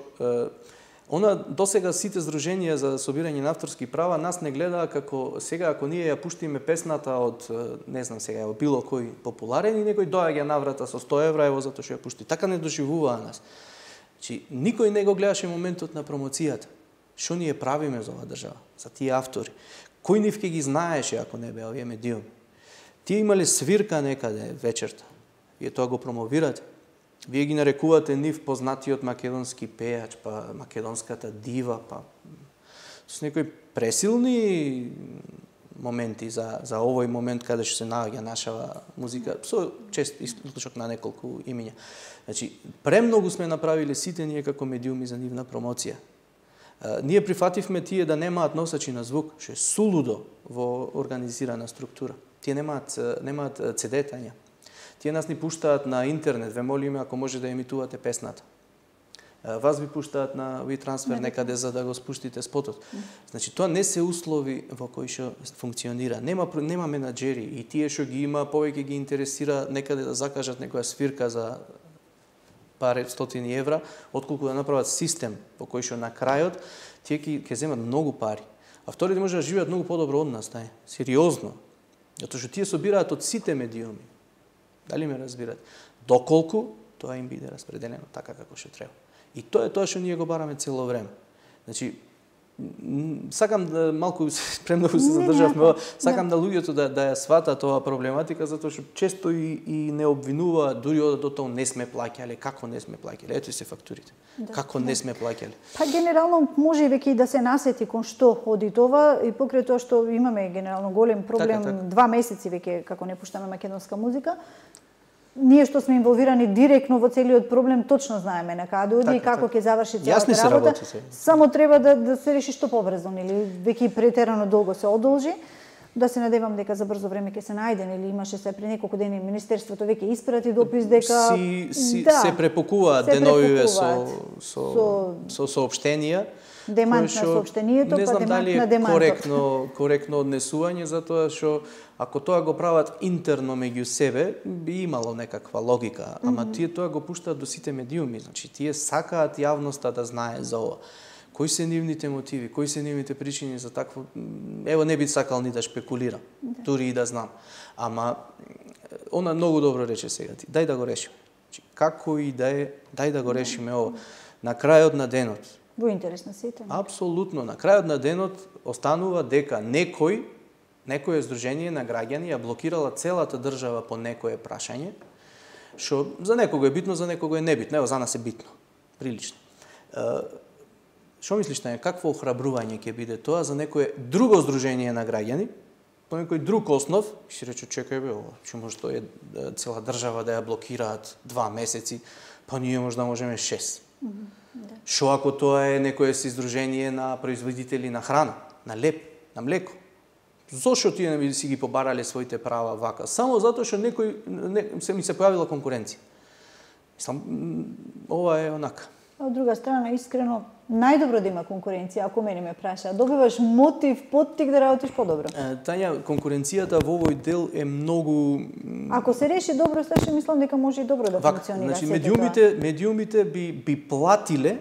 досега сите здруженија за собирање на авторски права нас не гледаа како сега ако ние ја пуштиме песната од не знам сега од било кој популарен и некој доаѓа на врата со 100 евра ево затоа што ја пушти. Така не доживуваа нас. Значи никој не го гледаше моментот на промоцијата. Што ние правиме за оваа држава, за тие автори? Кој нив ќе ги знаеше ако не беа овие медиуми? Тие имале свирка некаде вечерта. Вие тоа го промовирате. Вие ги нарекувате нив познатиот македонски пејач, па македонската дива, па со некои пресилни моменти за овој момент каде што се наоѓа нашава музика, со чест исклучок на неколку имиња. Значи, премногу сме направиле сите ние како медиуми за нивна промоција. Ние прифативме тие да немаат носачи на звук, што е сулудо во организирана структура. Тие немаат CD-тања. Тие нас ни пуштаат на интернет, ве молиме ако може да емитувате песната. Вас ви пуштаат на WeTransfer некаде за да го спуштите спотот. Значи тоа не се услови во кои што функционира. Нема менаџери и тие што ги има повеќе ги интересира некаде да закажат некоја свирка за пари 100 евра, отколку да направат систем во кој што на крајот тие ќе земат многу пари. А вторите може да живеат многу подобро од нас, сериозно. Затоа што тие собираат од сите медиуми. Дали ме разбирате? Доколку тоа им биде распределено така како што треба. И тоа е тоа што ние го бараме цело време. Значи, сакам да малку премногу се задржавме, сакам да луѓето да ја сватат оваа проблематика, затоа што често и не обвинуваат, дури одат до тоа не сме плаќале, како не сме плаќале, ето и се фактурите. Како не сме плаќале. Па генерално може веќе и да се насети кон што оди тоа и покрај тоа што имаме генерално голем проблем, 2 месеци веќе како не пуштаме македонска музика. Ние што сме инволвирани директно во целиот проблем, точно знаеме на каде оди и како ќе заврши целата работа. Само треба да се реши што побрзо, или веќе претерано долго се одолжи. Да се надевам дека за брзо време ќе се најден, или имаше се пред неколку дени Министерството веќе испрати допис дека се препокуваат деновиве со соопштенија. Демант на соопштението, па демант на демантот. Коректно однесување, затоа што ако тоа го прават интерно меѓу себе, би имало некаква логика, ама тие тоа го пуштаат до сите медиуми, значи тие сакаат јавноста да знае за ова. Кои се нивните мотиви, кои се нивните причини за такво... Ево, не би сакал ни да шпекулирам, дури и да знам. Ама, она многу добро рече сега ти. Дај да го решиме. Како и да е, дај да го решиме ова. На крајот на денот. Во интерес на сите. Апсолутно. На крајот на денот останува дека некој некое здружение на граѓани ја блокирала целата држава по некое прашање, што за некого е битно, за некого е небитно. Ево, за нас е битно. Прилично. Што мислиш, Тања, какво охрабрување ќе биде тоа за некое друго здружение на граѓани, по некој друг основ, и си рече, чекај бе, што може тоа е цела држава да ја блокираат 2 месеци, па ние може да можеме 6. Што ако тоа е некое си здружение на производители на храна, на леп, на млеко? Зошто тие не би си ги побарале своите права вака? Само затоа што се ми се појавила конкуренција. Мислам, ова е онака. Од друга страна, искрено, најдобро да има конкуренција, ако мене ме праша. Добиваш мотив, поттик да работиш подобро. Тања, конкуренцијата во овој дел е многу... Ако се реши добро, сташе мислам дека може и добро да функционира. Значи, медиумите би платиле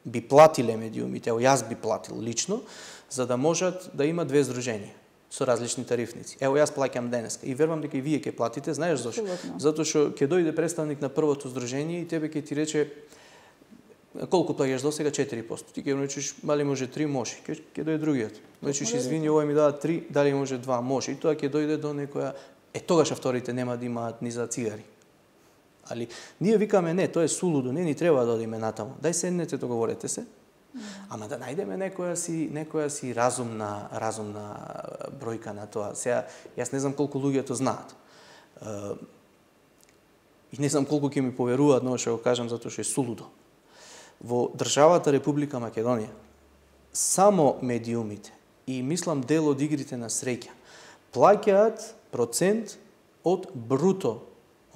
медиумите, ево јас би платил лично, за да можат да има 2 здруженија со различни тарифници. Ево, јас плаќам денеска и верувам дека и вие ќе платите, знаеш зашто? Затоа што ќе дојде представник на првото здружение и тебе ќе ти рече колку плаќаш до сега 4%. Ти ќе му речеш, дали може 3, може. Ќе дојде другиот. Речеш, извини, овој ми дава 3, дали може 2, може. И тоа ќе дојде до некоја тогаш авторите нема да имаат ни за цигари. Али ние викаме не, тоа е сулудо, не ни треба да одиме натаму. Дај седнете, договорете се. Ама да најдеме некоја си разумна бројка на тоа. Сега јас не знам колку луѓето знаат. И не знам колку ќе ми поверуваат на ова што го кажам затоа што е сулудо. Во државата Република Македонија само медиумите и мислам дел од игрите на среќа плаќаат процент од бруто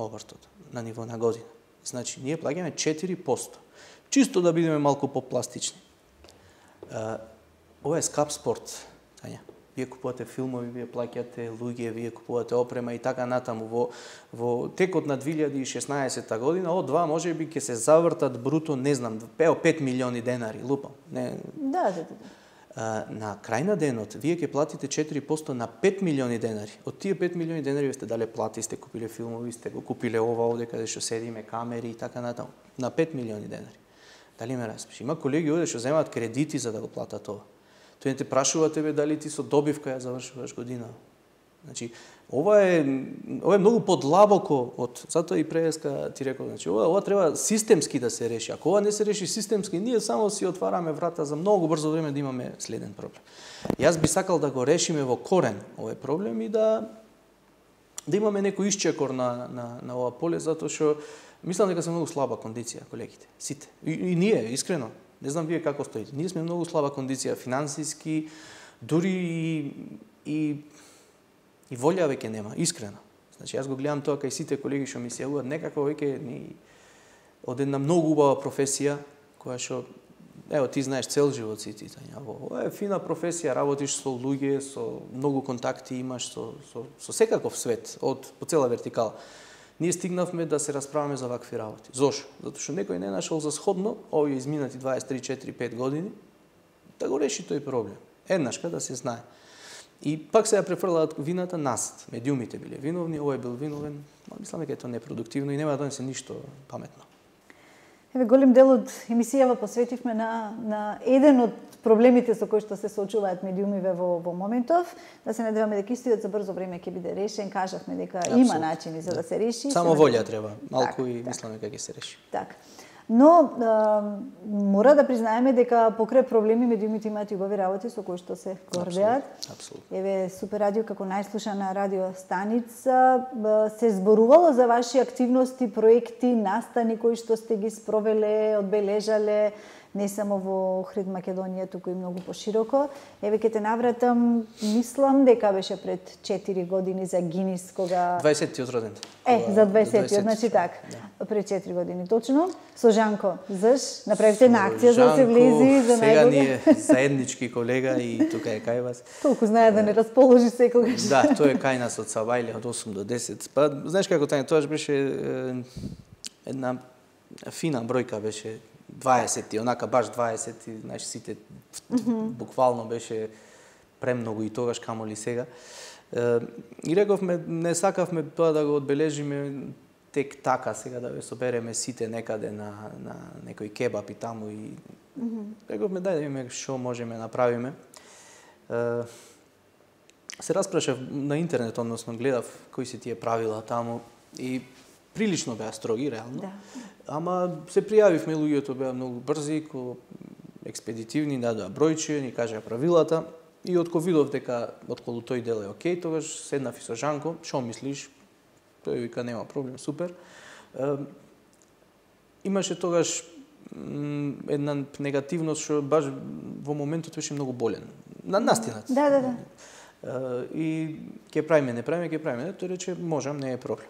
обртот на ниво на година. Значи, ние плаќаме 4%. Чисто да бидеме малку попластични. Ова е скап спорт, Тања. Вие купувате филмови, вие плаќате луѓе, вие купувате опрема и така натаму. Во текот на 2016 година, од 2 можеби ќе се завртат бруто, не знам, 5 милиони денари, лупам. Не. Да. На крај на денот, вие ќе платите 4% на 5 милиони денари. Од тие 5 милиони денари сте дале плати, сте купиле филмови, сте го купиле ова овде каде што седиме, камери и така натаму. На 5 милиони денари. Дали ме разбираш? Има колеги овде што земаат кредити за да го платат тоа. Тој не те прашува тебе дали ти со добивка ја завршуваш година. Значи, ова е многу подлабоко од, затоа и преска ти рекол, значи ова треба системски да се реши. Ако ова не се реши системски, ние само си отвараме врата за многу брзо време да имаме следен проблем. Јас би сакал да го решиме во корен овој проблем и да имаме некој исчекор на ова поле, затоа што мислам дека се многу слаба кондиција колегите, сите. И ние, искрено, не знам вие како стоите. Ние сме многу слаба кондиција финансиски, дури и волја веќе нема, искрено. Значи јас го гледам тоа кај сите колеги што ми се јавуваат, некако веќе од една многу убава професија која што ево ти знаеш цел живот си ти, Тања. Ова е фина професија, работиш со луѓе, со многу контакти имаш со секаков свет, по цела вертикала. Ние стигнавме да се расправаме за вакви работи. Зошто? Затоа што некој не нашол за сходно овие изминати 23, 4, 5 години да го реши тој проблем. Еднашка да се знае. И пак се ја префрлаат вината назад. Медиумите биле виновни, овој бил виновен. Мислам дека е тоа непродуктивно и нема да донесе ништо паметно. Еве, голем дел од емисијава посветивме на еден од проблемите со кои што се соочуваат медиумиве во моментов. Да се надеваме дека истиот за брзо време ќе биде решен. Кажавме дека има начини за да се реши. Само волја треба, малку и мислам дека ќе се реши. Така. Но мора да признаеме дека покрај проблеми медиумите имаат и убави работи со кои што се гордеат. Апсолутно. Еве, Супер радио како најслушана радиостаница се зборувало за ваши активности, проекти, настани кои што сте ги спровеле, одбележале. не само во Охрид, Македонија, туку и многу пошироко. Еве ќе те навратам, мислам дека беше пред 4 години за Гинис, кога 20-тиот роден. За 20-тиот, значи така. Да. Пред 4 години точно. Со Жанко Зш направивте една акција за да се влези за најдолго. Сега ние заеднички колега и тука е кај вас. Толку знае да не расположи секогаш. Да, тој е кај нас од Сабајле од 8 до 10. Па знаеш како тоа беше една фина бројка, беше 20, онака баш 20, знаеш сите буквално беше премногу и тогаш камоли сега. И рековме, не сакавме тоа да го одбележиме тек така сега да ве собереме сите некаде на некој кебап и таму и рековме дај да видиме што можеме направиме. Се распрашав на интернет, односно гледав кои се тие правила таму и прилично беа строги реално. Да. Ама се пријавивме, луѓето беа многу брзи, експедитивни, дадоа бројче, ни кажаа правилата и откако видов дека отколу тој дел е окей, тогаш седнав и со Жанко, што мислиш? Тој вика нема проблем, супер. Имаше тогаш една негативност што баш во моментот беше многу болен. На настинат. Да. И ќе правиме, не правиме, ќе правиме. Тој рече можам, не е проблем.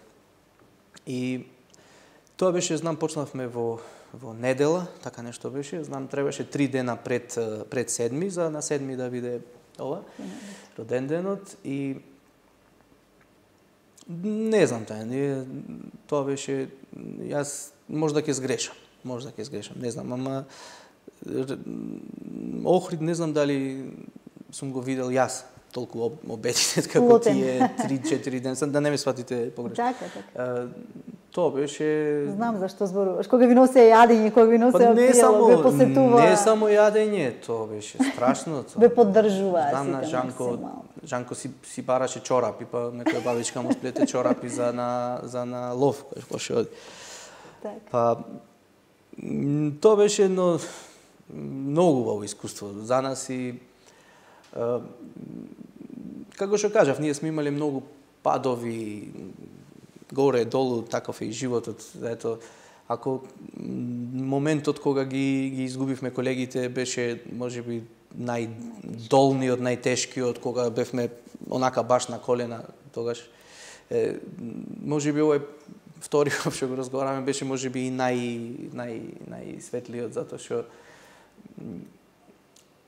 И тоа беше, знам, почнавме во недела, така нешто беше. Знам, требаше 3 дена пред седми, за на седми да биде ова, роден денот. И не знам тоа беше, јас може да ќе сгрешам, не знам, ама Охрид не знам дали сум го видел јас толку обединет како тие 3-4 дена, да не ме сватите погрешно. Така. Тоа беше... Знам зашто зборуваш. Кога ви носе јадење, кога ви носе пијало, ве посетува... Не само јадење, тоа беше страшно. Ве поддржува. Знам на Жанко си бараше чорапи, па некоја бабичка му сплете чорапи за на лов, кој поше оди. Па тоа беше едно многу убаво искуство за нас и како што кажав, ние сме имале многу падови, горе, долу, таков е и животот. Ето, ако моментот кога ги изгубивме колегите беше можеби најдолниот, најтешкиот, кога бевме онака баш на колена, тогаш можеби овој вториот што го разговараме беше можеби и најсветлиот, затоа што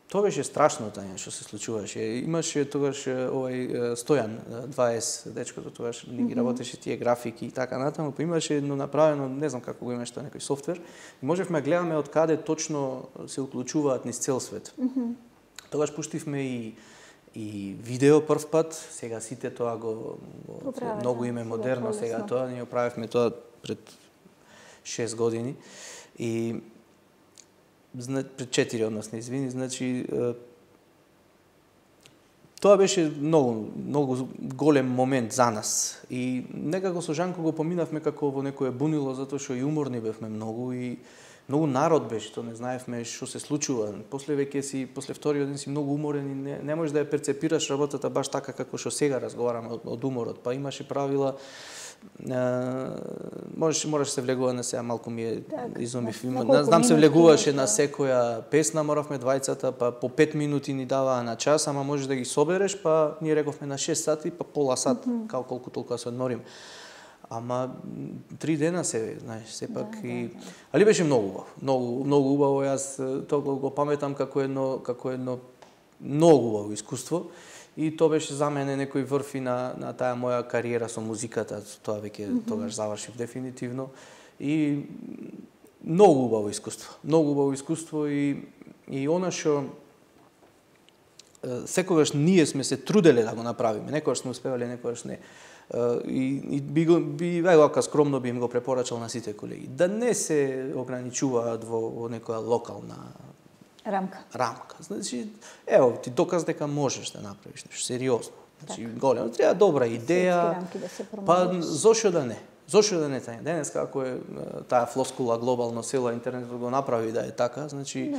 тоа беше страшно што се случуваше. Имаше тогаш овој Стојан 20 дечкото тогаш ги работеше тие графики и така натаму, па имаше едно направено, не знам како го имаше тоа некој софтвер, и можевме гледаме од каде точно се уклучуваат низ цел свет. Тогаш пуштивме и видео прв пат, сега сите тоа го многу име модерно, сега тоа ние правевме тоа пред 6 години и пред 4, односно, извини, значи тоа беше многу голем момент за нас и некако со Жанко го поминавме како во некое бунило, затоа што и уморни бевме многу и многу народ беше, тоа не знаевме што се случува. После вториот ден си многу уморен и не можеш да ја перцепираш работата баш така како што сега разговараме од уморот, па имаше правила. Мораш се влегува на сега, малку ми е изумив. Знам се влегуваше на секоја песна, моравме двајцата, па по 5 минути ни даваа на час, ама можеш да ги собереш, па ние рековме на 6 сати, па пола сат, као колку толку да се одморим. Ама 3 дена се, знаеш, сепак и... Али беше многу убаво, јас тоа го паметам како едно многу убаво искуство. И тоа беше за мене некој врв и на таа моја кариера со музиката, тоа веќе тогаш завршив дефинитивно. И многу убаво искуство и она што секогаш ние сме се труделе да го направиме, некогаш сме успевале, некогаш не. И би вака скромно би им го препорачал на сите колеги да не се ограничуваат во некоја локална рамка. Значи, ево, ти доказ дека можеш да направиш нешто сериозно. Значи, големо, треба добра идеја. Па зошто да не? Зошто да не тај? Денеска ако е таа флоскула глобално село интернетот го направи да е така, значи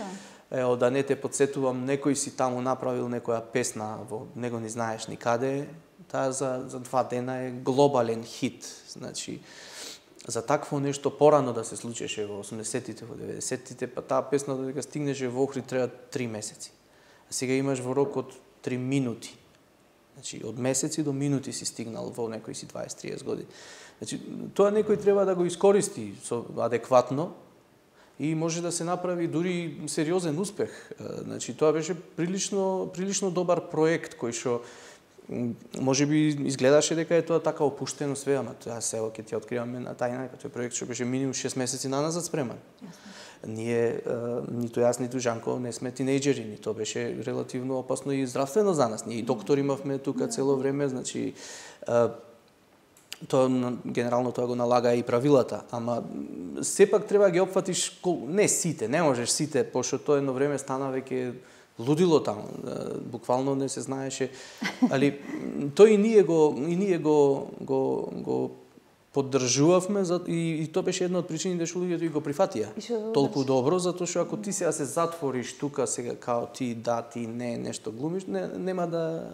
ево да не те подсетувам, некој си таму направил некоја песна, не го ни знаеш никаде, таа за 2 дена е глобален хит. Значи, за такво нешто порано да се случеше во 80-тите, во 90-тите, па таа песна додека стигнеше во Охрид треба 3 месеци. А сега имаш во рок од 3 минути. Значи, од месеци до минути си стигнал во некои си 20-30 години. Значи, тоа некој треба да го искористи адекватно и може да се направи дури сериозен успех. Значи, тоа беше прилично добар проект кој што може би изгледаше дека е тоа така опуштено све, ама тоа сега ќе ти откриваме на тајна, тој проект што беше минимум 6 месеци наназад спреман. Ние, ниту јас, ниту Жанко, не сме тинејџери, ни тоа беше релативно опасно и здравствено за нас. Ние и доктори имавме тука цело време, значи тоа генерално тоа го налага и правилата, ама сепак треба да ги опфатиш не сите, не можеш сите, пошто тоа едно време стана веќе лудило таму, буквално не се знаеше, али тој и ние го поддржувавме и тоа беше една од причините што луѓето и го прифатија толку добро, затоа што ако ти сега се затвориш тука сега као ти да, ти не, нешто глумиш, нема да,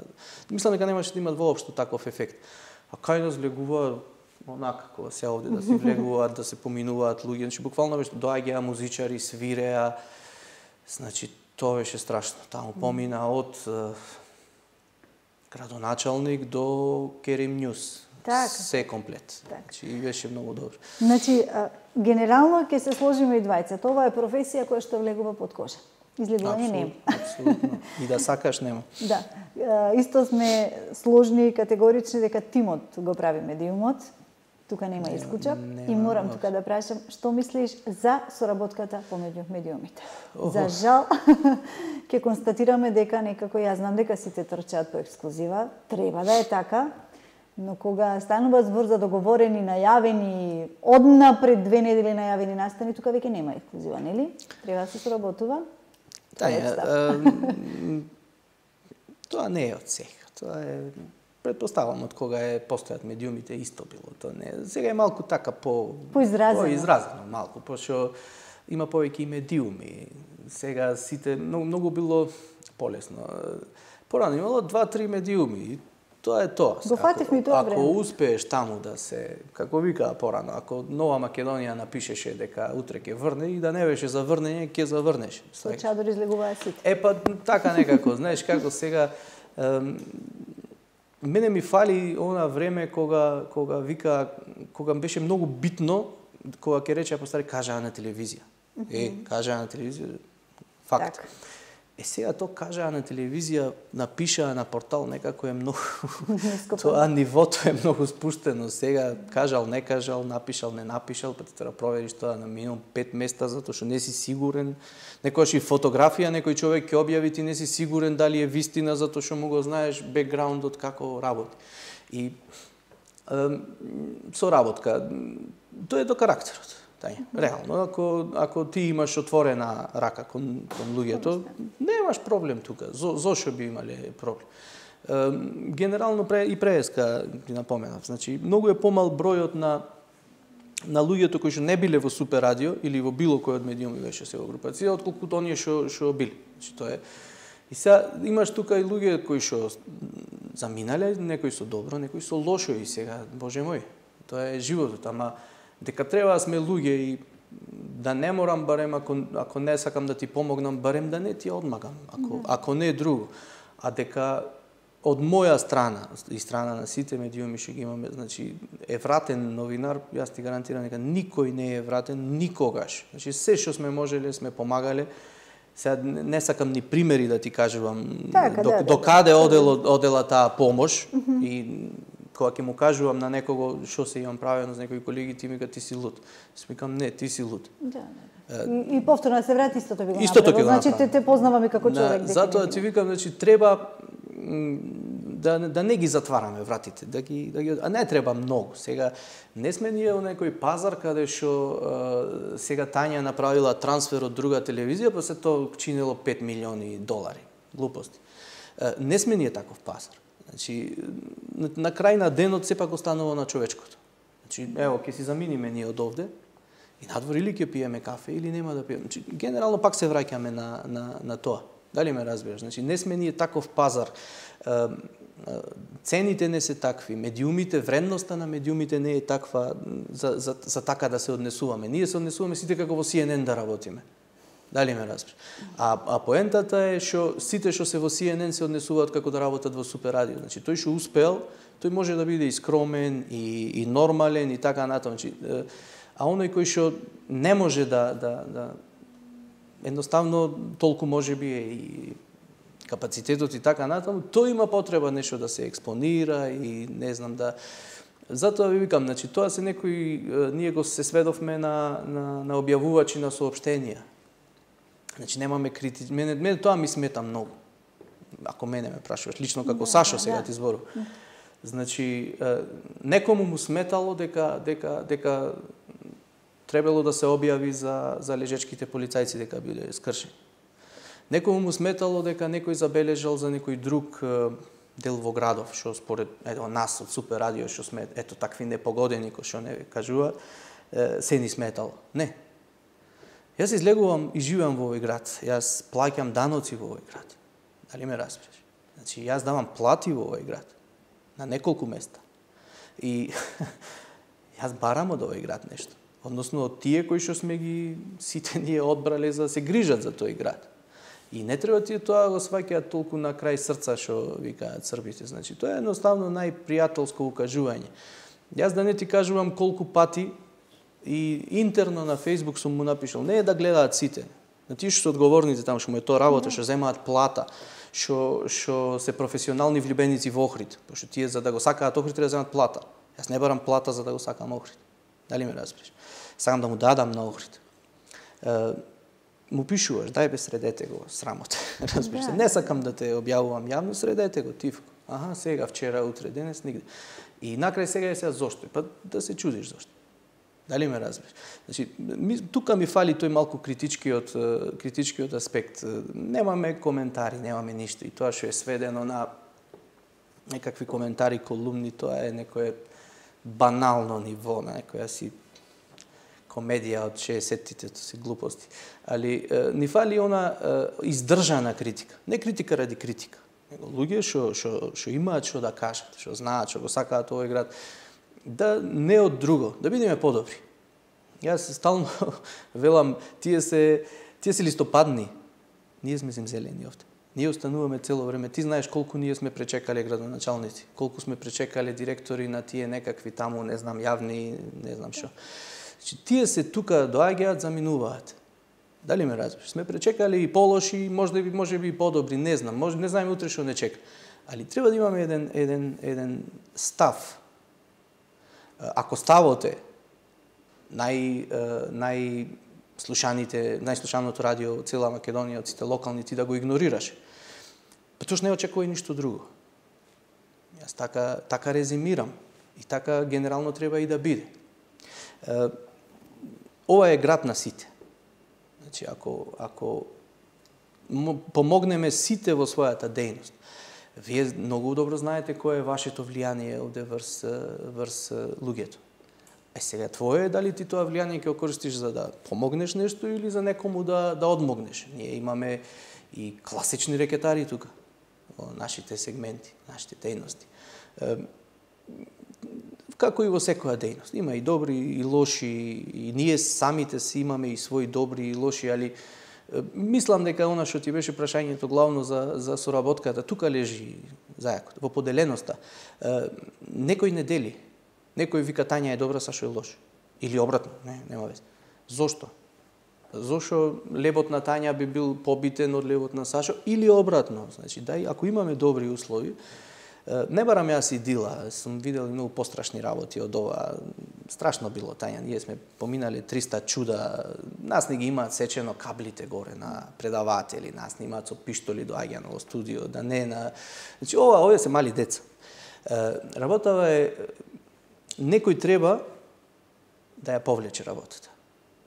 мислам дека немаше да има воопшто таков ефект. А кај нас влегува онака кога се овде да се влегуваат, да се поминуваат луѓе, значи буквално беше доаѓаа музичари, свиреа, значи тоа беше страшно. Таму помина од градоначалник до Керим Ньюс. Так. Се комплет. Значи беше многу добро. Значи генерално ќе се сложиме и двајцата. Ова е професија која што влегува под кожа. Излегување нема. Апсолутно. И да сакаш нема. Да. Исто сме сложни и категорични дека тимот го прави медиумот. Тука нема исклучок. И морам тука да прашам, што мислиш за соработката помеѓу медиумите? За жал, ќе констатираме дека некако, јас знам дека сите трчаат по ексклузива, треба да е така, но кога станува збор за договорени, најавени, однапред 2 недели најавени настани, тука веќе нема ексклузива, нели? Треба да се соработува. Тоа не е од сега. Тоа е, предпоставам, од кога постојат медиумите исто било. Тоа не. Сега е малку така поизразено малку, пошто има повеќе и медиуми. Сега сите многу било полесно. Порано имало 2-3 медиуми. Тоа е тоа. Го фативме тоа време. Ако успееш таму да се, како викаа порано, ако Нова Македонија напишеше дека утре ќе врне и да не беше за врнење, ќе заврнеш. Со чадор излегуваа сите. Па така некако, знаеш како сега мене ми фали она време кога вика, кога беше многу битно, кога ќе рече постари кажаа на телевизија. Кажаа на телевизија, факт. Так. Сега тоа кажаа на телевизија, напишаа на портал, некако е многу... Тоа нивото е многу спуштено. Сега кажал, не кажал, напишал, не напишал, па ти треба провериш тоа на минимум 5 места, затоа што не си сигурен. Некојаш и фотографија, некој човек ќе објави, ти не си сигурен дали е вистина, затоа што му го знаеш бекграундот како работи. И соработка, тоа е до карактерот. Реално, ако ти имаш отворена рака кон луѓето, немаш проблем тука. Зошто би имале проблем? Генерално и преска ти напоменав. Значи, многу е помал бројот на луѓето кои што не биле во Супер радио или во било кој од медиуми беше сега групација, отколкуто оние што били. Значи, тоа е. И сега имаш тука и луѓе кои што заминале, некои со добро, некои со лошо и сега, боже мој, тоа е животот, ама дека треба да сме луѓе и да не морам, барем ако не сакам да ти помогнам, барем да не ти одмагам, ако не е друго. А дека од моја страна и страна на сите медиуми што ги имаме, значи е вратен новинар, јас ти гарантирам дека никој не е вратен никогаш. Значи се што сме можеле сме помагале. Сега не сакам ни примери да ти кажувам до каде одела таа помош и кога ќе му кажувам на некого што се имам правено за некои колеги, ти ми ка ти си луд. Смикам не, ти си луд. И повторно се врати истото би го направил. Значи те познаваме како човек. Затоа ти викам, значи треба да не ги затвараме вратите, а не треба многу. Сега не сме ние во некој пазар каде што сега Тања направила трансфер од друга телевизија, па се тоа чинело $5 милиони. Глупости. Не сме ние таков пазар. Значи, на крај на денот сепак останува на човечкото. Значи, ево, ќе си заминиме ние од овде и надвор или ќе пиеме кафе или нема да пиеме. Значи, генерално пак се враќаме на тоа. Дали ме разбираш? Значи, не сме ние таков пазар. цените не се такви, медиумите, вредноста на медиумите не е таква за така да се однесуваме. Ние се однесуваме сите како во CNN да работиме. Дали ме разбираш? А поентата е што сите што се во CNN се однесуваат како да работат во Супер радио. Значи тој што успел, тој може да биде и скромен и нормален и така натаму. Значи, а оној кој што не може да едноставно толку можеби и капацитетот и така натаму, тој има потреба нешто да се експонира и не знам да. Затоа ви викам, значи тоа се некои ние го се сведовме на објавувачи на соопштенија. Значи немаме критики. Мене тоа ми смета многу. Ако мене ме прашуваш лично како Сашо сега ти зборувам. Значи некому му сметало дека требало да се објави за лежечките полицајци дека биле скршени. Некому му сметало дека некој забележал за некој друг дел во градов, што според нас од Супер радио што сме такви непогодени кои што не кажуваат, се ни сметало. Не. Јас излегувам и живеам во овој град. Јас плаќам даноци во овој град. Дали ме разбираш? Значи јас давам плати во овој град на неколку места. И јас барам од овој град нешто. Односно од тие кои што сме ги сите ние одбрале за да се грижат за тој град. И не треба тие тоа го сваќаат толку на крај срца што викаат србите. Значи тоа е едноставно најпријателско укажување. Јас да не ти кажувам колку пати и интерно на Facebook сум му напишал, не е да гледаат сите. На тие што се одговорните таму, што му е тоа работа, што земаат плата, што се професионални влюбеници во Охрид, пошто тие за да го сакаат Охрид треба да земаат плата. Јас не барам плата за да го сакам Охрид. Дали ме разбираш? Сакам да му дадам на Охрид. Му пишуваш, дај бе средете го, срамот. Разбираш се, не сакам да те објавувам јавно, средете го, тивко. Аха, сега, вчера, утре, денес, нигде. И накрај сега зошто? Па да се чудиш зошто. Дали ме разбираш? Значи, тука ми фали тој малку критичкиот аспект. Немаме коментари, немаме ништо. И тоа што е сведено на некакви коментари, колумни, тоа е некое банално ниво, на некоја си комедија од 60-тите, тоа се глупости. Али ни фали она издржана критика. Не критика ради критика. Него луѓе што имаат што да кажат, што знаат, што го сакаат овој град, да не од друго, да бидеме подобри. Јас стално велам, тие се листопадни. Ние сме земзелени овде. Ние остануваме цело време. Ти знаеш колку ние сме пречекале градоначалници, колку сме пречекале директори на тие некакви таму, не знам, јавни, не знам што. Тие се тука доаѓаат, заминуваат. Дали ме разбираш? Сме пречекали и полоши, може би и подобри, не знам, не знаеме утре што не чека. Али треба да имаме еден став. Ако ставот е најслушаното радио од цела Македонија, од сите локални, ти да го игнорираш, потош не очекувај ништо друго. Јас така резимирам и така генерално треба и да биде. Ова е град на сите. Значи, ако помогнеме сите во својата дејност, вие многу добро знаете кое е вашето влијание овде врз луѓето. Сега твое е дали ти тоа влијание ќе го користиш за да помогнеш нешто или за некому да одмогнеш. Ние имаме и класични рекетари тука во нашите сегменти, нашите дејности. Како и во секоја дејност. Има и добри и лоши, и ние самите си имаме и своји добри и лоши, али мислам дека она што ти беше прашањето главно за соработката, тука лежи зајакот, во поделеноста. Некој не дели. Некој вика Тања е добра, Сашо е лош. Или обратно, нема вез. Зошто? Зошто лебот на Тања би бил побитен од лебот на Сашо или обратно? Значи, ако имаме добри услови, не барам јас и Дила, сум видел многу пострашни работи од ова. Страшно било Тања, ние сме поминале 300 чуда, нас не ги имаат сечено каблите горе на предаватели, нас не имаат со пиштоли доаѓано во студио, да не на... Значи, овие се мали деца. Работава е, некој треба да ја повлече работата.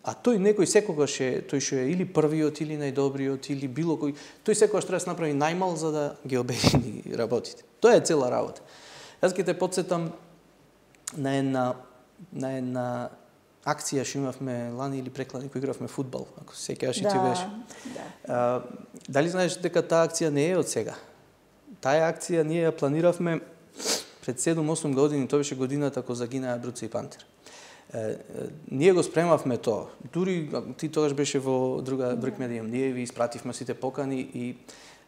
А тој некој секогаш е, тој што е или првиот, или најдобриот, или било кој, тој секогаш треба да се направи најмал за да ги обедини работите. Тоа е цела работа. Јас ќе те потсетам на една акција што имавме лани или преклани кога игравме фудбал, ако се сеќаваш и ти беше. Да. Дали знаеш дека таа акција не е од сега? Таа акција ние ја планиравме пред 7-8 години, тоа беше годината кога загинаа Бруце и Пантер. Ние го спремавме тоа. Дури ти тогаш беше во друга Брикмедиум. Ние ви испративме сите покани и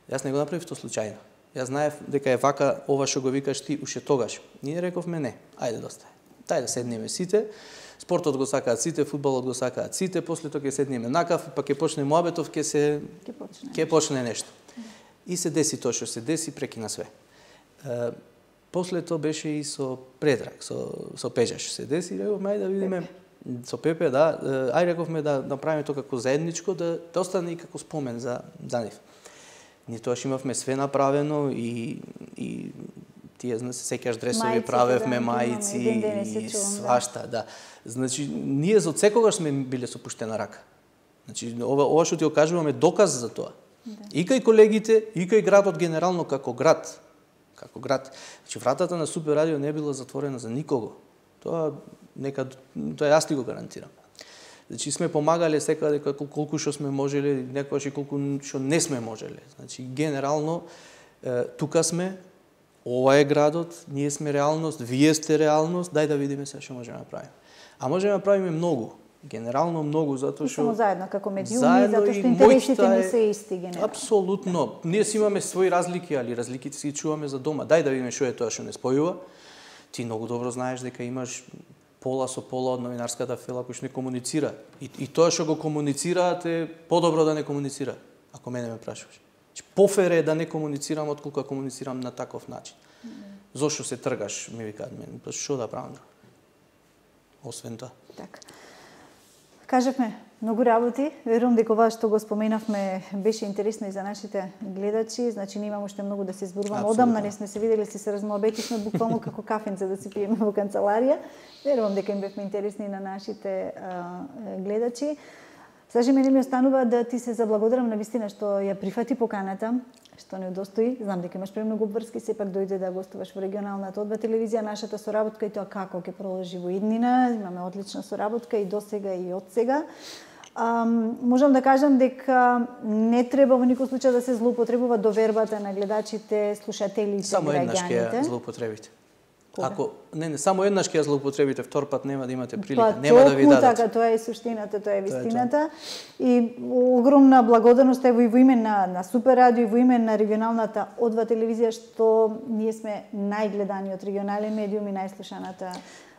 јас не го направив тоа случајно. Јас знаев дека е вака ова што го викаш ти уште тогаш. Ние рековме не, ајде доста. Тај да седнеме сите. Спортот го сакаат сите, фудбалот го сакаат сите, после тоа ќе седнеме на кафе, па ќе почне муабетов, ќе почне нешто. И се деси тоа што се деси, прекина све. После тоа беше и со Предраг, со Пежа што се деси, рековме ајде да видиме со Пепе, да, ајде рековме да направиме тоа како заедничко, да остане и како спомен за нив. Ние тоа што имавме све направено и тие се сеќаш дресови правевме, маици и свашта, да. Значи ние за секогаш сме биле со пуштена рака. Значи ова што ти го кажуваме доказ за тоа. И кај колегите, и кај градот генерално како град. Значи вратата на Супер радио не била затворена за никого. Тоа јас ти го гарантирам. Значи сме помагале секаде колку што сме можеле, некогаш и колку што не сме можеле. Значи генерално тука сме, ова е градот, ние сме реалност, вие сте реалност, дај да видиме се што можеме да направиме. А можеме да правиме многу. Генерално многу, затоа што само заедно како медиуми, затоа што интересите ни се исти генерално. Апсолутно. Ние си имаме своји разлики, али разликите си чуваме за дома. Дај да видиме што е тоа што не спојува. Ти многу добро знаеш дека имаш пола со пола од новинарската фела кој што не комуницира. И тоа што го комуницираат е подобро да не комуницира, ако мене ме прашуваш. Пофер е да не комуницирам отколку да комуницирам на таков начин. Зошто се тргаш, ми викаат мене. Што да правам? Освен тоа. Така. Кажавме многу работи, верувам дека ова што го споменавме беше интересно и за нашите гледачи, значи ние имаме уште многу да се зборуваме. Одамна не сме се видели, се размоабетивме буквално како кафенце да си пиеме во канцеларија. Верувам дека им бевме интересни на нашите гледачи. Саши, мене ми останува да ти се заблагодарам на вистина што ја прифати поканата, што не удостои. Знам дека имаш премногу врски, сепак дојде да гостуваш во регионалната одба телевизија. Нашата соработка и тоа како ќе продолжи во иднина. Имаме одлична соработка и досега и од сега. Можам да кажам дека не треба во никој случај да се злоупотребува довербата на гледачите, слушателите, само еднаш ќе ја злоупотребите. Ако само еднаш ќе ја злоупотребите, втор пат нема да имате прилика, нема да ви дадат. Така, тоа е суштината, тоа е вистината. И огромна благодарност ево и во име на Супер радио и во име на регионалната одва телевизија што ние сме најгледаниот регионален медиум и најслушаната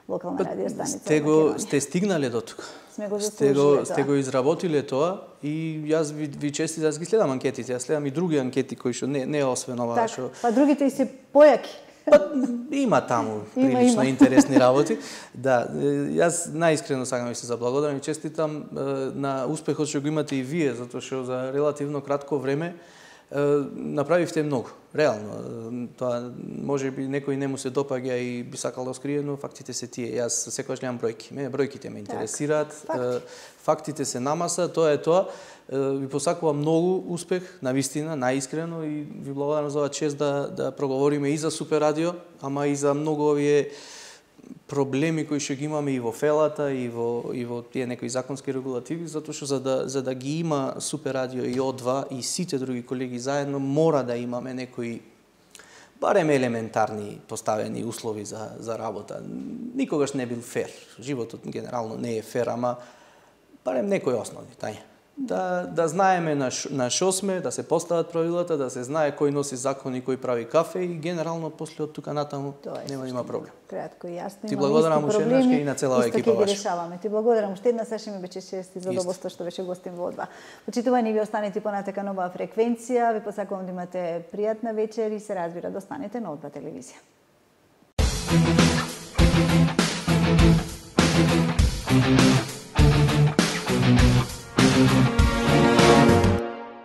локална радио станица. Сте стигнале до тука. Сме го заслужиле сте го изработиле тоа и јас ви честитам, јас ги следам анкетите, јас следам и други анкети кои што не освен ова што. Па другите и се појаки. Има таму прилично интересни работи. Да, јас најискрено сакам да се заблагодарам и честитам на успехот што го имате и вие, затоа што за релативно кратко време направивте многу. Реално, тоа можеби некој не му се допаѓа и би сакал да скрие, но фактите се тие. Јас секогаш гледам бројки. Мене бројките ме интересираат. Фактите се намаса, тоа е тоа. Ви посакувам многу успех, навистина, најискрено и ви благодарам за оваа чест да проговориме и за Супер радио, ама и за многу овие проблеми кои што ги имаме и во фелата и во тие некои законски регулативи, затоа што за да ги има Супер радио и О2 и сите други колеги заедно мора да имаме некои барем елементарни поставени услови за работа. Никогаш не бил фер. Животот генерално не е фер, ама барем некои основни, тај. Да знаеме на шо сме, да се постават правилата, да се знае кој носи закон и кој прави кафе и генерално после од тука натаму нема да има проблем. Кратко и јасно. Ти благодарам уште еднаш и на целава екипа ваша. Решаваме. Ти благодарам уште еднаш, Саши, ми беше чест и задоволство што беше гостин во Одва. Почитувани, ви останете понатака на оваа фреквенција. Ви посакувам да имате пријатна вечер и се разбира да останете на Одва телевизија.